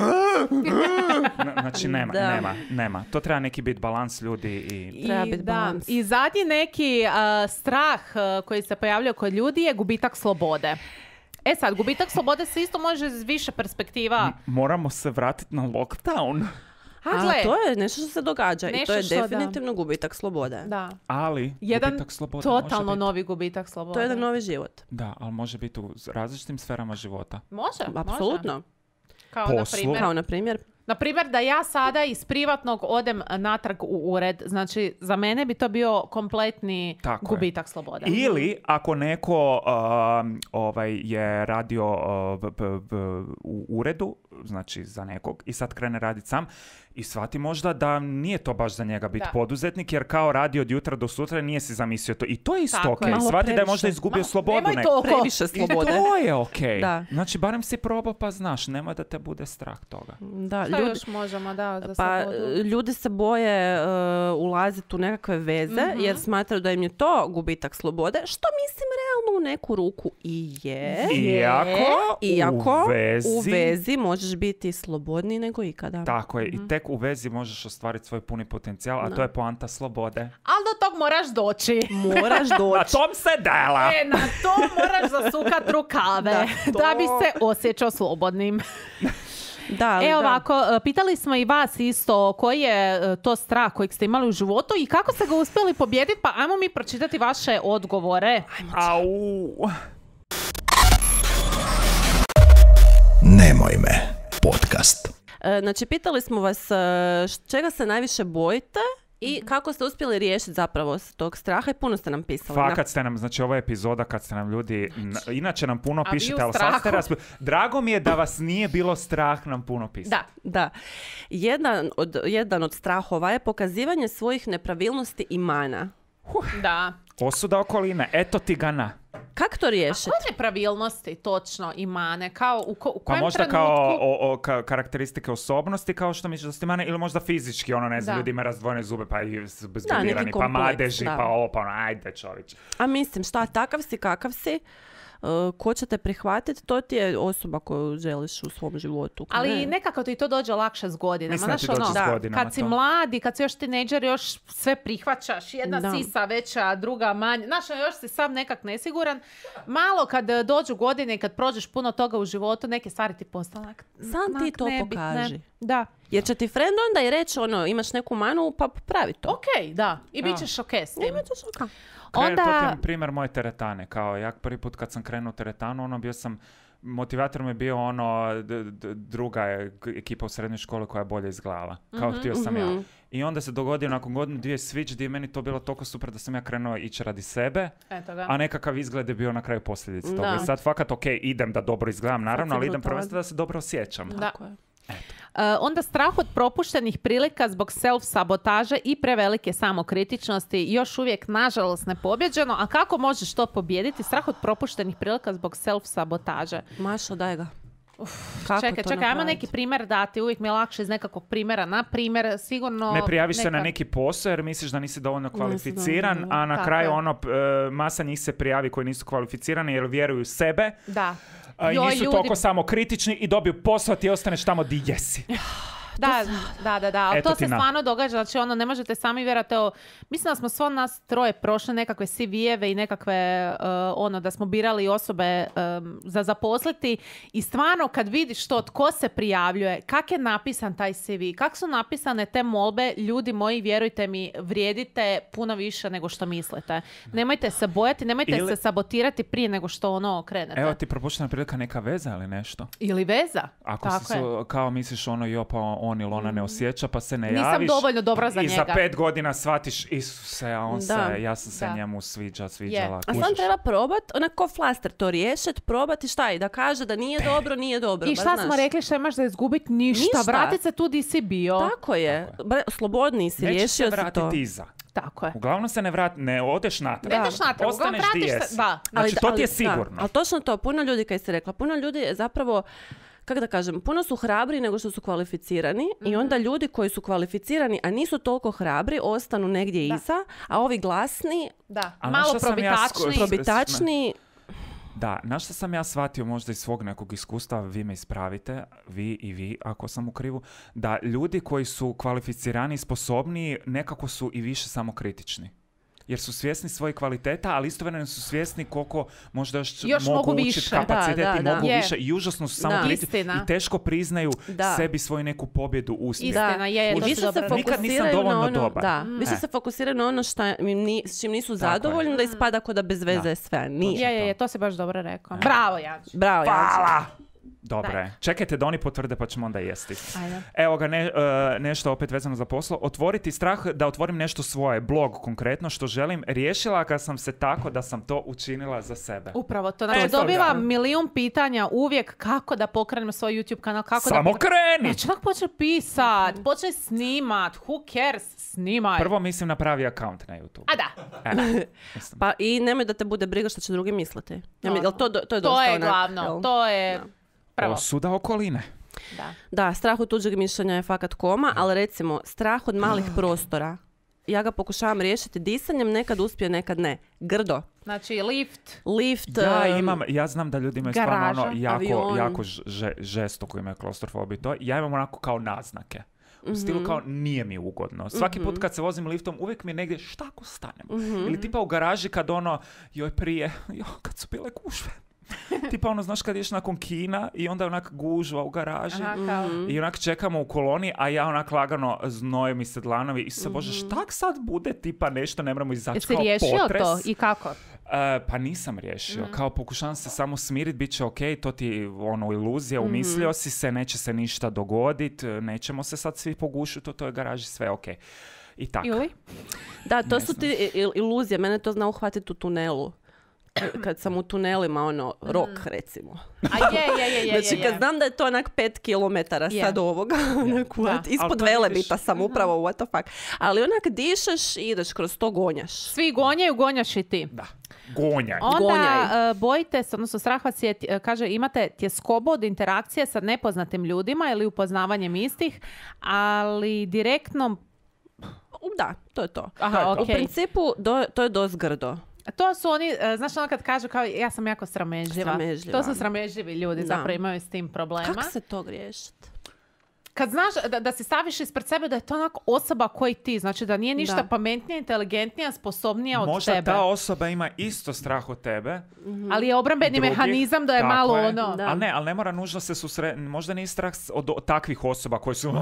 Na- znači nema, Da. nema, nema. To treba neki biti balans ljudi i... Treba I, biti da, balans. I zadnji neki a, strah a, koji se pojavljaju kod ljudi je gubitak slobode. E sad, gubitak slobode se isto može iz više perspektiva. Moramo se vratiti na lockdown. A, A gle, to je nešto što se događa i to Nešto je što da. definitivno gubitak slobode. da. Ali Jedan gubitak slobode može totalno biti- novi gubitak slobode. To je jedan novi život. Da, ali može biti u različitim sferama života. Može, može. Apsolutno. Kao Poslu. na primjer. Kao na primjer, Na primjer, da ja sada iz privatnog odem natrag u ured, znači za mene bi to bio kompletni Tako je. gubitak slobode. Ili ako neko um, ovaj, je radio uh, b- b- b- u uredu, znači za nekog i sad krene raditi sam i shvati možda da nije to baš za njega biti Da. poduzetnik jer kao radi od jutra do sutra nije si zamislio to i to je isto Tako ok. je. Malo Shvati da je previše. možda izgubio Ma, slobodu nemoj neku. toliko. Previše I slobode. to je ok. Da. Znači barem si probao pa znaš, nemoj da te bude strah toga. Da, Šta ljudi, još možemo, da, za pa slobodu? ljudi se boje uh, ulaziti u nekakve veze Mhm. jer smatraju da im je to gubitak slobode, što mislim realno u neku ruku i je. Iako, Iako u vezi, u vezi možeš biti slobodniji nego ikada. tako je, i tek u vezi možeš ostvariti svoj puni potencijal, a Da. to je poanta slobode. Ali do tog moraš doći. Moraš Na doći. tom se dela! E, na to moraš zasukat rukave da, to- bi se osjećao slobodnim. Da, ali E da. ovako, e, pitali smo i vas isto koji je e, to strah kojeg ste imali u životu i kako ste ga uspjeli pobijediti, pa ajmo mi pročitati vaše odgovore. Au! Nemoj me. Podcast. E, Znači, pitali smo vas e, š- čega se najviše bojite i kako ste uspjeli riješiti zapravo s tog straha i puno ste nam pisali. Fakat ste nam, znači ovo je epizoda kad ste nam ljudi, n- inače nam puno A vi u pišete, ali sad ste strahu. raspi... Drago mi je da vas nije bilo strah nam puno pisati. Da. Da. Jedan od, jedan od strahova je pokazivanje svojih nepravilnosti i mana. Da. Osuda okoline, eto ti ga na. Kako to riješiti? Koje nepravilnosti točno i mane? Kao u, ko, u Pa kojem možda trenutku? kao o, o, ka- karakteristike osobnosti, kao što misliš da ste mane, ili možda fizički, ono ne znam, Da. ljudi imaju razdvojene zube, pa i su neki bezbrilirani, pa kompleks, madeži, da. pa ovo, pa ono, ajde čović. A mislim, šta, takav si, kakav si, uh, ko će te prihvatiti, to ti je osoba koju želiš u svom životu. ko Ali ne. nekako ti to dođe lakše s godinama. Mislim da ti Znaš, dođe ono, s godinama kad si to. mlad i kad si još tinejdžer, još sve prihvaćaš. Jedna Da. sisa veća, druga manja. Znaš, još si sam nekak nesiguran. Malo kad e, dođu godine i kad prođeš puno toga u životu, neke stvari ti postane onak, Sam ti onak to nebitne. pokaži. Da. Jer će ti friend onda i reći, ono, imaš neku manu, pa pravi to. Ok, da. I bit Da. ćeš ok s tim. Nema to šoka. Krenu, to ti Onda... je primjer moje teretane. Kao ja prvi put kad sam krenuo u teretanu, ono bio sam, motivator mi je bio ono d- d- druga je k- ekipa u srednjoj školi koja je bolje izgledala. Kao htio sam ja. I onda se dogodio nakon godinu dvije switch gdje je meni to bilo toliko super da sam ja krenuo ići radi sebe, Eto ga. a nekakav izgled je bio na kraju posljedica toga. Da. I sad fakat ok, idem da dobro izgledam naravno, si ali idem brutalan. prvenstveno da se dobro osjećam. Da. Tako je. E, onda strah od propuštenih prilika zbog self-sabotaže i prevelike samokritičnosti još uvijek nažalost nepobjeđeno. A kako možeš to pobijediti? Strah od propuštenih prilika zbog self-sabotaže. Mašo, daj ga. Kako Čekaj, to čekaj, ajmo napraviti? neki primjer dati. Uvijek mi je lakše iz nekakvog primjera. Na primjer, sigurno... Ne prijaviš se na neka- neki posao jer misliš da nisi dovoljno kvalificiran, dovoljno, a na tako kraju je. ono, p- e, masa njih se prijavi koji nisu kvalificirani jer vjeruju u sebe, Da. a i Joj, nisu ljudi- toliko samokritični i dobiju posao, a ti ostaneš tamo di jesi. Da, da, da, da. Ali Eto to ti se na. stvarno događa. Znači, ono, ne možete sami vjerati. Evo, mislim da smo svo nas troje prošle nekakve C V-eve i nekakve, uh, ono, da smo birali osobe um, za zaposliti. I stvarno, kad vidiš to, tko se prijavljuje, kak je napisan taj C V, kak su napisane te molbe, ljudi moji, vjerujte mi, vrijedite puno više nego što mislite. Nemojte se bojati, nemojte Ili- se sabotirati prije nego što ono krenete. Evo ti propuštena prilika neka veza ili nešto. Ili veza. Ako Tako si je. su, kao misliš ono jo pa on ili ona ne osjeća pa se ne Nisam javiš. dovoljno dobra za I za njega. pet godina shvatiš Isuse, a on Da. se, ja sam se Da. njemu sviđa, sviđala. A sam kužiš. treba probat, onako flaster to riješit, probati šta i da kaže da nije dobro, nije dobro. I ba, šta znaš. smo rekli, šta imaš za izgubiti? Ništa. Ništa. Vratit se tu di si bio. Tako je. Bre, slobodniji si, Nećeš riješio se si to. vratiti iza. Tako je. Uglavnom se ne vrati, ne odeš natrag. Ne ideš natrag, uglavnom Ostaneš di vratiš se- jesi. da. Znači, to ti je da, sigurno. ali točno to, puno ljudi, kaj si rekla, puno ljudi je zapravo, kako da kažem, puno su hrabri nego što su kvalificirani i onda ljudi koji su kvalificirani, a nisu toliko hrabri, ostanu negdje Da. iza, a ovi glasni, Da. A Malo znaš šta sam ja probitačni. sko- probitačni, Da, na što sam ja shvatio možda iz svog nekog iskustva, vi me ispravite, vi i vi ako sam u krivu, da ljudi koji su kvalificirani i sposobniji nekako su i više samokritični. Jer su svjesni svojih kvaliteta, ali istovremeno su svjesni koliko možda još, Još mogu mogu učiti više. kapacitet Da, da, i da. mogu Je. više i užasno su samokritični Istina. i teško priznaju Da. sebi svoju neku pobjedu, uspjeh. Istina, je, i to si više se dobro rekla. Nikad nisam fokusiraju na dovoljno ono, dobar. da, Mm. više E. se fokusiraju na ono šta im ni, s čim nisu Tako je. zadovoljni, da ispada ko da bez veze Da. je sve. Nije. Je, je, je, to si baš dobro rekao. Bravo, Janč. Bravo, Janči. Hvala! Dobro Daj. je. Čekajte da oni potvrde pa ćemo onda jesti. Ajde. Evo ga, ne, e, nešto opet vezano za poslo. Otvoriti strah da otvorim nešto svoje, blog konkretno, što želim. Riješila ga sam se tako da sam to učinila za sebe. Upravo to. Znači, E, to dobivam da. milijun pitanja uvijek kako da pokrenem svoj YouTube kanal, kako Samo da... kreni! Znači, onak počne pisat, počne snimat, who cares, snimaj. Prvo mislim napravi account na YouTube. A da, E, mislim. Pa i nemoj da te bude briga što će drugi misliti. Ja mi, No. jel to, to je dosta to je onak, glavno, jel? to je Da. prvo. Osuda okoline. Da. Da, strah od tuđeg mišljenja je fakat koma, ali recimo, strah od malih prostora. Ja ga pokušavam riješiti disanjem, nekad uspije, nekad ne. Grdo. Znači, lift, Lift, Ja um, imam, ja znam da ljudi imaju stvarno garaža, ono jako, avion. jako ž- žestoko imaju klaustrofobiju. To, ja imam onako kao naznake. U stilu Mhm. kao nije mi ugodno. Svaki put kad se vozim liftom uvijek mi je negdje šta ako stanem. Mhm. Ili tipa u garaži kad ono, joj prije, jo, kad su bile gužve. Tipa ono, znaš kad ješ nakon kina i onda je onak gužva u garaži. aha, kao... Mhm. I onak čekamo u koloni, a ja onak lagano znoje mi se dlanovi. I se Mhm. bože, šta sad bude tipa nešto, ne moramo izaći Jesi kao riješio potres. to i kako? E, pa nisam riješio. Kao pokušavam se samo smirit, bit će ok, to ti ono iluzija, umislio si se, neće se ništa dogodit, nećemo se sad svi pogušiti u toj garaži, sve ok. I tako. Ili? Da, to Ne su znam. ti il- iluzije. Mene to zna uhvatiti u tunelu. Kad sam u tunelima, ono, rok, recimo. A je, je, je, je, je, Znači, je. kad znam da je to onak pet kilometara Je. sad ovoga, onak, what? Da. Ali Ispod to Velebita vidiš- sam upravo, what the fuck. Ali onak dišeš i ideš kroz to, gonjaš. Svi gonjaju, gonjaš i ti. Da. Gonjaj. Onda Gonjaj. e, bojite se, odnosno strah vas je, e, kaže, imate tjeskobu od interakcije sa nepoznatim ljudima ili upoznavanjem istih, ali direktno... U, Da, to je to. Aha, U okej. principu, do, to je dost grdo. To su oni, e, znaš ono kad kažu kao ja sam jako sramežljiva. Sramežljiva. To su sramežljivi ljudi, Da. zapravo imaju s tim problema. Kako se to riješiti? Kad znaš da, da si staviš ispred sebe da je to onak osoba koji ti, znači da nije ništa Da. pametnija, inteligentnija, sposobnija od Možda tebe. ta osoba ima isto strah od tebe. Ali je obrambeni drugih, mehanizam da je tako malo je. ono... Da. Ali ne, ali ne mora nužno se susre... Možda nije strah s- od, od takvih osoba koji su...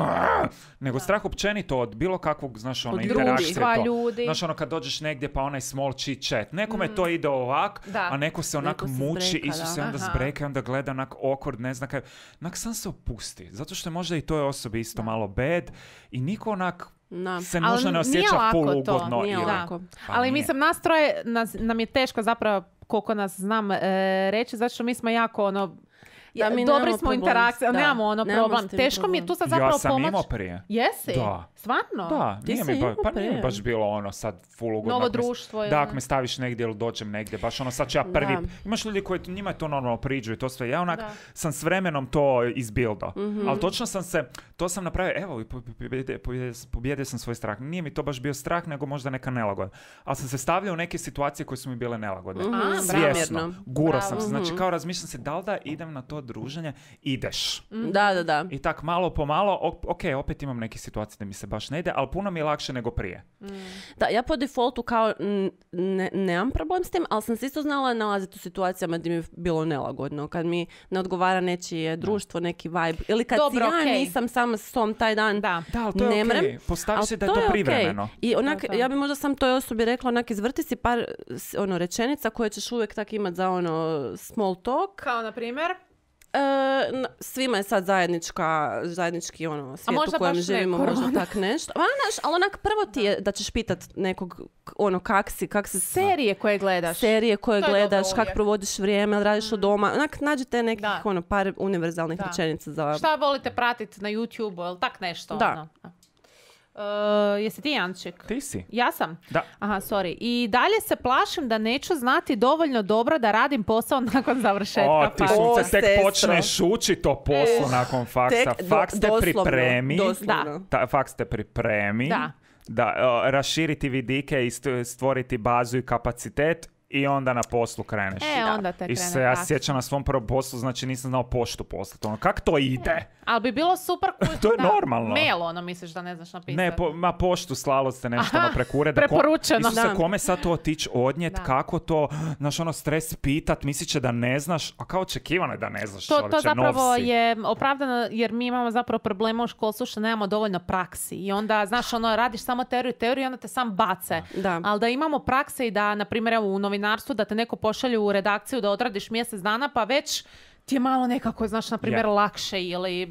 Nego strah općenito od bilo kakvog, znaš, ono, Od interakcije. društva, to. ljudi. Znaš, ono, kad dođeš negdje pa onaj small chit chat. Nekome to ide ovak, Da. a neko se onak Neko se muči, zbreka, isto se da. onda Aha. zbreka i onda gleda onak awkward, ne zna kaj. Onak sam se opusti. Zato što je možda i toj osobi isto malo bad i niko onak Da. se Ali nužno ne nije osjeća lako full to, ugodno. nije ili- lako. Pa Ali nije. mislim, nas troje, nas, nam je teško zapravo, koliko nas znam e, reći, zato što mi smo jako ono... Da, mi dobri nemamo smo problem interakcije, s- ali da, nemamo ono nemamo problem. s tim Teško mi je tu sad zapravo Ja sam pomoć. imao prije. Jesi? Da. Stvarno? Da, Ti nije si mi, ba, imao pa nije mi prije. baš bilo ono sad full ugodno. Novo ako me- društvo je, Da, ne? ako me staviš negdje ili dođem negdje, baš ono sad ću ja prvi, Da. imaš ljudi koji njima je to normalno priđu i to sve, ja onak Da. sam s vremenom to izbildo, Mhm. ali točno sam se, to sam napravio, evo, i po- po- pobjedio, pobjedio, pobjedio sam svoj strah, nije mi to baš bio strah, nego možda neka nelagoda, ali sam se stavljao u neke situacije koje su mi bile nelagodne, Mhm, A, svjesno, namjerno. gurao sam se, Bravo. znači kao razmišljam se da li da idem na to druženje, ideš. Da, da, da. I tak malo po malo, o- ok, opet imam neke situacije da mi se baš ne ide, ali puno mi je lakše nego prije. Da, ja po defaultu kao n- ne, nemam problem s tim, ali sam se isto znala nalaziti u situacijama gdje mi je bilo nelagodno. Kad mi ne odgovara nečije društvo, neki vibe. Ili kad Dobro, si ja okej. nisam sama s tom taj dan. Da. Da, ali to je Ne okej. mrem, Postavi ali se da je to okej. privremeno. I onak, To, to. ja bi možda sam toj osobi rekla, onak, izvrti si par s- ono, rečenica koje ćeš uvijek tak imat za ono small talk. Kao, na primjer? E, n- svima je sad zajednička, zajednički ono, svijet možda u kojem baš ne živimo, korona. možda tak nešto. Ma, znaš, ali onak prvo ti je da ćeš pitat nekog, k- ono, kak si, kak se Serije koje gledaš. serije koje To je gledaš, dobro kak uvijek. provodiš vrijeme, ali radiš od doma. Onak, nađite nekih, Da. ono, par univerzalnih Da. rečenica za... Šta volite pratiti na YouTube-u, ili tak nešto? Da. Ono? E, jesi ti Janček? Ti si. Ja sam? Da. Aha, sorry. I dalje se plašim da neću znati dovoljno dobro da radim posao nakon završetka O, ti faksa. O, sunce, tek sestro. počneš uči to poslo nakon faksa. Tek, do- Faks te doslovno, pripremi. doslovno. Ta, faks te pripremi. Da. Da, o, raširiti vidike i st- stvoriti bazu i kapacitet i onda na poslu kreneš. E, onda te I krene se ja faks. sjećam na svom prvom poslu, znači nisam znao poštu poslati. Ono, kak to ide? Ali bi bilo super... kuć- To je da, normalno. Mail, ono, misliš da ne znaš napisati. Ne, po, ma poštu slalo ste nešto Aha, ono preko ureda. Ko- preporučeno. Isuse, Da. kome sad to otići odnijet, Da. kako to, znaš, ono, stres pitat, mislit će da ne znaš, a kao očekivano je da ne znaš, To, to čovječe, zapravo nov si. je opravdano jer mi imamo zapravo problema u školstvu što nemamo dovoljno praksi i onda, znaš, ono, radiš samo teoriju, teoriju i onda te sam bace. Da. Ali da imamo prakse i da, na primjer, evo, u novinarstvu da te neko pošalje u redakciju da odradiš mjesec dana, pa već ti je malo nekako, znaš, na primjer, Je. lakše ili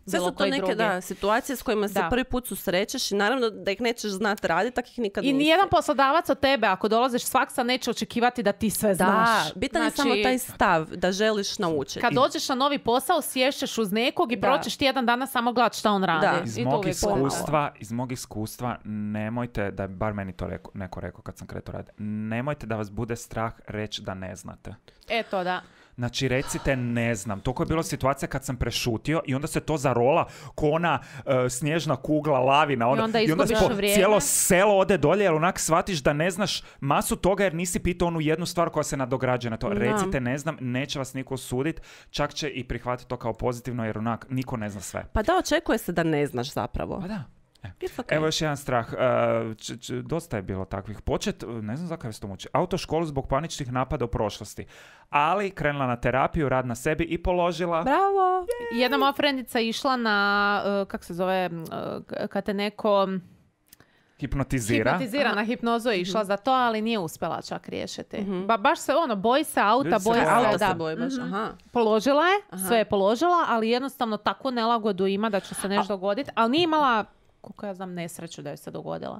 Sve bilo su to koji neke drugi. da, situacije s kojima se Da. prvi put susrećeš i naravno da ih nećeš znati raditi, tak ih nikad I nisi. nijedan poslodavac od tebe, ako dolaziš s faksa, neće očekivati da ti sve znaš. Da, bitan je Znači, samo taj stav da želiš naučiti. kad dođeš na novi posao, sješćeš uz nekog i Da. proćeš tjedan dana samo gledat šta on radi. Da. Iz I to mog uvijek pomalo. iskustva, iz mog iskustva, nemojte, da je bar meni to reko, neko rekao kad sam kretao raditi, nemojte da vas bude strah reći da ne znate. Eto, da. Znači, recite ne znam. Toliko je bilo situacija kad sam prešutio i onda se to zarola ko ona e, snježna kugla, lavina. Ono, I onda i onda izgubiš po- vrijeme. cijelo selo ode dolje jer onak shvatiš da ne znaš masu toga jer nisi pitao onu jednu stvar koja se nadograđuje na to. Da. Recite ne znam, neće vas niko osuditi, čak će i prihvatiti to kao pozitivno jer onak niko ne zna sve. Pa da, očekuje se da ne znaš zapravo. Pa da. It's okay. Evo još jedan strah. E, č- č- dosta je bilo takvih. Počet, ne znam zakaj vas to muči, autoškolu zbog paničnih napada u prošlosti. Ali krenula na terapiju, rad na sebi i položila... Bravo! Jedna moja frendica išla na, uh, kak se zove, uh, kad te neko Hipnotizira. hipnotizira, na hipnozu je išla za to, ali nije uspjela čak riješiti. Ba, baš se ono, boji se auta, Ljudi se boji boje se, Auto da. se boji baš, aha. Položila je, sve je položila, ali jednostavno takvu nelagodu ima da će se nešto dogoditi, ali nije imala, koliko ja znam, nesreću da joj se dogodila.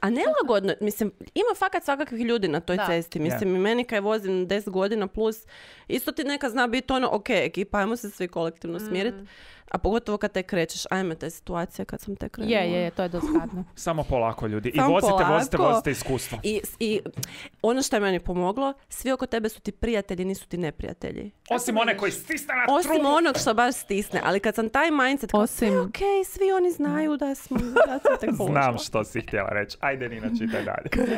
A nelagodno, mislim, ima fakat svakakvih ljudi na toj Da. cesti. Mislim, i meni kaj vozim deset godina plus, isto ti neka zna biti ono, ok, ekipa, ajmo se svi kolektivno smiriti. A pogotovo kad te krećeš, ajme te situacije kad sam te krenula. Je, je, je, to je dosta gadno. Samo polako, ljudi. I Samo vozite, vozite, polako. vozite iskustvo. I, I ono što je meni pomoglo, svi oko tebe su ti prijatelji, nisu ti neprijatelji. Osim one koji stisne na Osim trubu. onog što baš stisne, ali kad sam taj mindset, kao, Osim- sve ok, svi oni znaju da smo, da sam tek položila. Znam što si htjela reći. Ajde, Nina, čitaj dalje.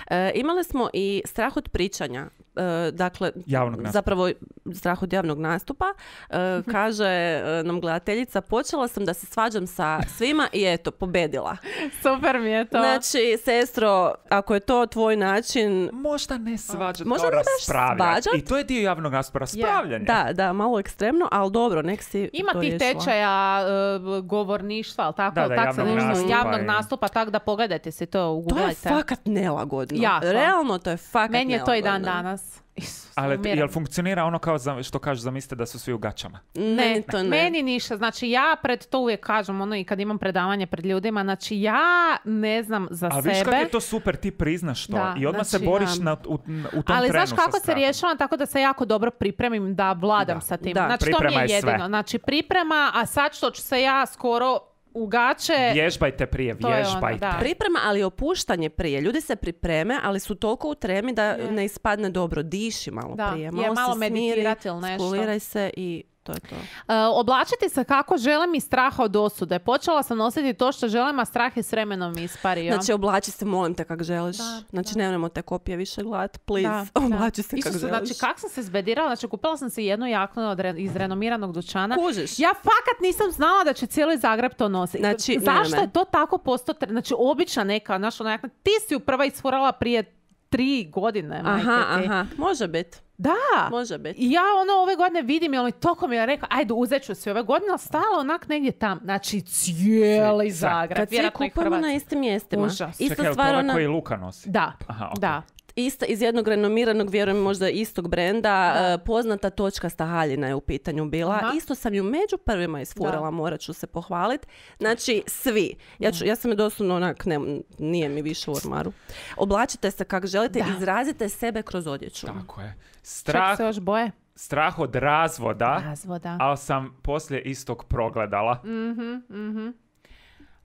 E, imali smo i strah od pričanja. E, dakle, Javnog nastupa. zapravo strah od javnog nastupa. E, kaže e, nam gledateljica, počela sam da se svađam sa svima i eto, pobedila. Super mi je to. Znači, sestro, ako je to tvoj način... Možda ne svađati, Možda kao ne baš raspravljati. svađat. I to je dio javnog nastupa, raspravljanje. Da, da, malo ekstremno, ali dobro, nek si Ima to tih riješila. tečaja e, govorništva, ali tako, Da, da, tak se javnog nešto, nastupa javnog i- nastupa, tako da pogledajte si to, To je ugooglajte. fakat nelagodno. Jako. Realno to je fakat Meni je to i dan nelagodno. danas. Isus, Ali umiram. jel funkcionira ono kao za, što kažu, zamislite da su svi u gaćama? Ne, Ne, to ne. meni ništa. Znači ja pred to uvijek kažem, ono i kad imam predavanje pred ljudima, znači ja ne znam za A sebe. viš kako je to super, ti priznaš to Da, i odmah znači, se boriš da. na, u, u tom Ali trenu znaš kako sa se strahom. rješavam? Tako da se jako dobro pripremim da vladam Da. sa tim. Da. Znači to mi Priprema je je sve. jedino. Znači priprema, a sad što ću se ja skoro u gaće... Vježbajte prije, To je ono, vježbajte. da. Priprema, ali i opuštanje prije. Ljudi se pripreme, ali su toliko u tremi da ne ispadne dobro. Diši malo Da, prije. je, Malo, malo se smiri, meditirati ili nešto. skuliraj se i to je to. E, oblačiti se kako želim i straha od osude. Počela sam nositi to što želim, a strah je s vremenom ispario. Znači, oblači se, molim te, kak želiš. Da, znači, nemojmo te kopije više gledat. Please, Da, da. oblači se kak Isuse, želiš. znači kak sam se zbedirala, znači kupila sam se jednu jaknu od re- iz renomiranog dućana. Kužiš. Ja fakat nisam znala da će cijeli Zagreb to nositi. Znači, zašto ne, ne. je to tako postao tre- Znači, obična neka, znaš, ona jakna, ti si ju prva isfurala prije tri godine, majke Aha, ti. aha. Može biti. Da. Može biti. I ja ono ove godine vidim, jel mi toko mi je rekao, ajde uzet ću si ove godine, ali stala onak negdje tam. Znači, cijeli Sve. Zagreb. Kad svi vjerojatno i kupujemo Hrvatska. na istim mjestima. Užas. Ista Čekaj, jel to stvar, ovaj ona... koji Luka nosi? Da, Aha, ok. da. Ista, iz jednog renomiranog, vjerujem možda istog brenda, e, poznata točkasta haljina je u pitanju bila. Aha. Isto sam ju među prvima isfurala, Da. morat ću se pohvaliti. Znači, svi. Ja, ću, ja sam je doslovno onak, ne, nije mi više u ormaru. Oblačite se kako želite, Da. izrazite sebe kroz odjeću. Tako je. Čak Strah, se još boje. strah od razvoda, Razvoda. ali sam poslije istog progledala.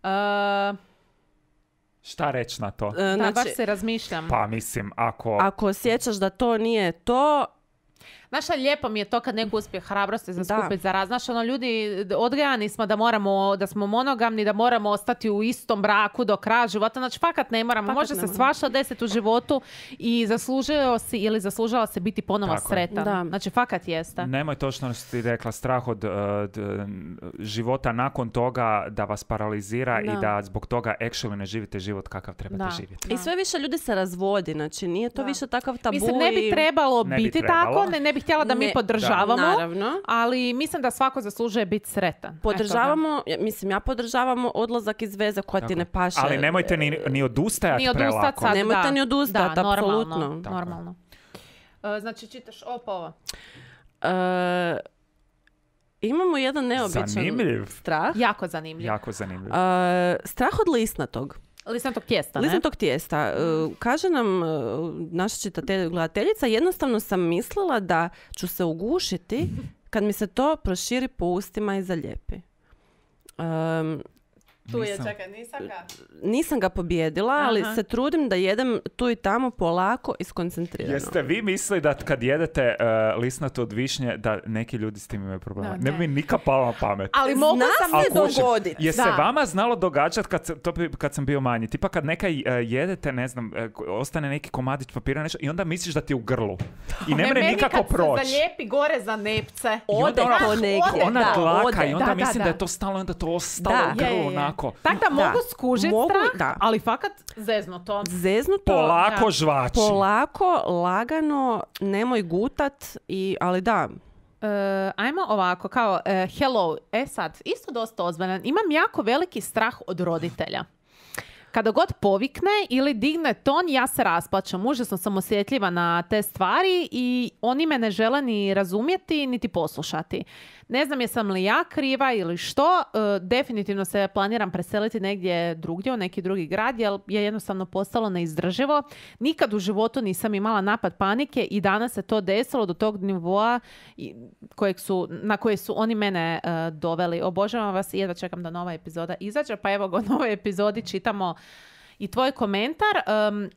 E, Šta reći na to? E, da, znači, baš se razmišljam. Pa mislim, ako... ako osjećaš da to nije to, Znaš, šta, lijepo mi je to kad neko uspije hrabrosti za skupiti za raz. Znaš, ono, ljudi, odgajani smo da moramo, da smo monogamni, da moramo ostati u istom braku do kraja života. Znači, fakat ne moramo. Fakat Može ne se moramo. svašta desiti u životu i zaslužio si ili zaslužila se biti ponovo Tako je. sretan. Da. Znači, fakat jeste. Nemoj točno što ti rekla, strah od uh, d- života nakon toga da vas paralizira Da. i da zbog toga actually ne živite život kakav trebate Da. živjeti. i sve više ljudi se razvodi, znači nije to Da. više takav tabu. Mislim, ne bi i- trebalo Ne bi biti trebalo. tako, ne, ne bih htjela da mi Ne, podržavamo, naravno. ali mislim da svako zaslužuje biti sretan. Eto, Podržavamo, ja- mislim, ja podržavamo odlazak iz veze koja ti Tako. ne paše. Ali nemojte ni, ni odustajati Ni odustat prelako. sad, Nemojte da. ni odustat, Da, apsolutno. Normalno, Tako je. normalno. E, znači, čitaš opova. E, imamo jedan neobičan Zanimljiv. strah. Jako zanimljiv. Jako zanimljiv. E, strah od lisnatog. Lisnatog tijesta, ne? Lisnatog tijesta. E, kaže nam e, naša čitatelj, gledateljica, jednostavno sam mislila da ću se ugušiti kad mi se to proširi po ustima i zaljepi. Um, Tu je, Nisam- čekaj, nisam ga. nisam ga pobjedila, ali Aha. se trudim da jedem tu i tamo polako i skoncentrirano. Jeste vi mislili da kad jedete uh, lisnatu od višnje da neki ljudi s tim imaju problema? Da, ne bi ne. mi nikad palo na pamet. Ali mogu Zna sam... se A kuži, dogoditi. Je se Da. vama znalo događati kad, se- to bi- kad sam bio manji? Tipa kad neka uh, jedete, ne znam, uh, ko- ostane neki komadić papira nešto i onda misliš da ti je u grlu. I ne Ne, mre meni nikako kad se proći. zalijepi gore za nepce. Ode onda to ona- negdje. Ona da, dlaka ode. i onda Da, da, mislim da, da. je to stalo, onda to ostalo Da. u grlu Je, je, je. onako. Tako da mogu Da. skužiti Mogu, strah, da. ali fakat zeznuto. Zeznuto, Polako Da. žvači. polako, lagano, nemoj gutat, i, ali da, E, ajmo ovako, kao e, hello, e sad, isto dosta ozbiljan. Imam jako veliki strah od roditelja. Kada god povikne ili digne ton, ja se rasplačem. Užasno sam osjetljiva na te stvari i oni me ne žele ni razumjeti, niti poslušati. Ne znam jesam li ja kriva ili što, e, definitivno se planiram preseliti negdje drugdje, u neki drugi grad, jer je jednostavno postalo neizdrživo. Nikad u životu nisam imala napad panike i danas se to desilo do tog nivoa i- kojeg su, na koje su oni mene e, doveli. Obožavam vas i jedva čekam da nova epizoda izađe, pa evo ga u novoj epizodi čitamo i tvoj komentar. Em,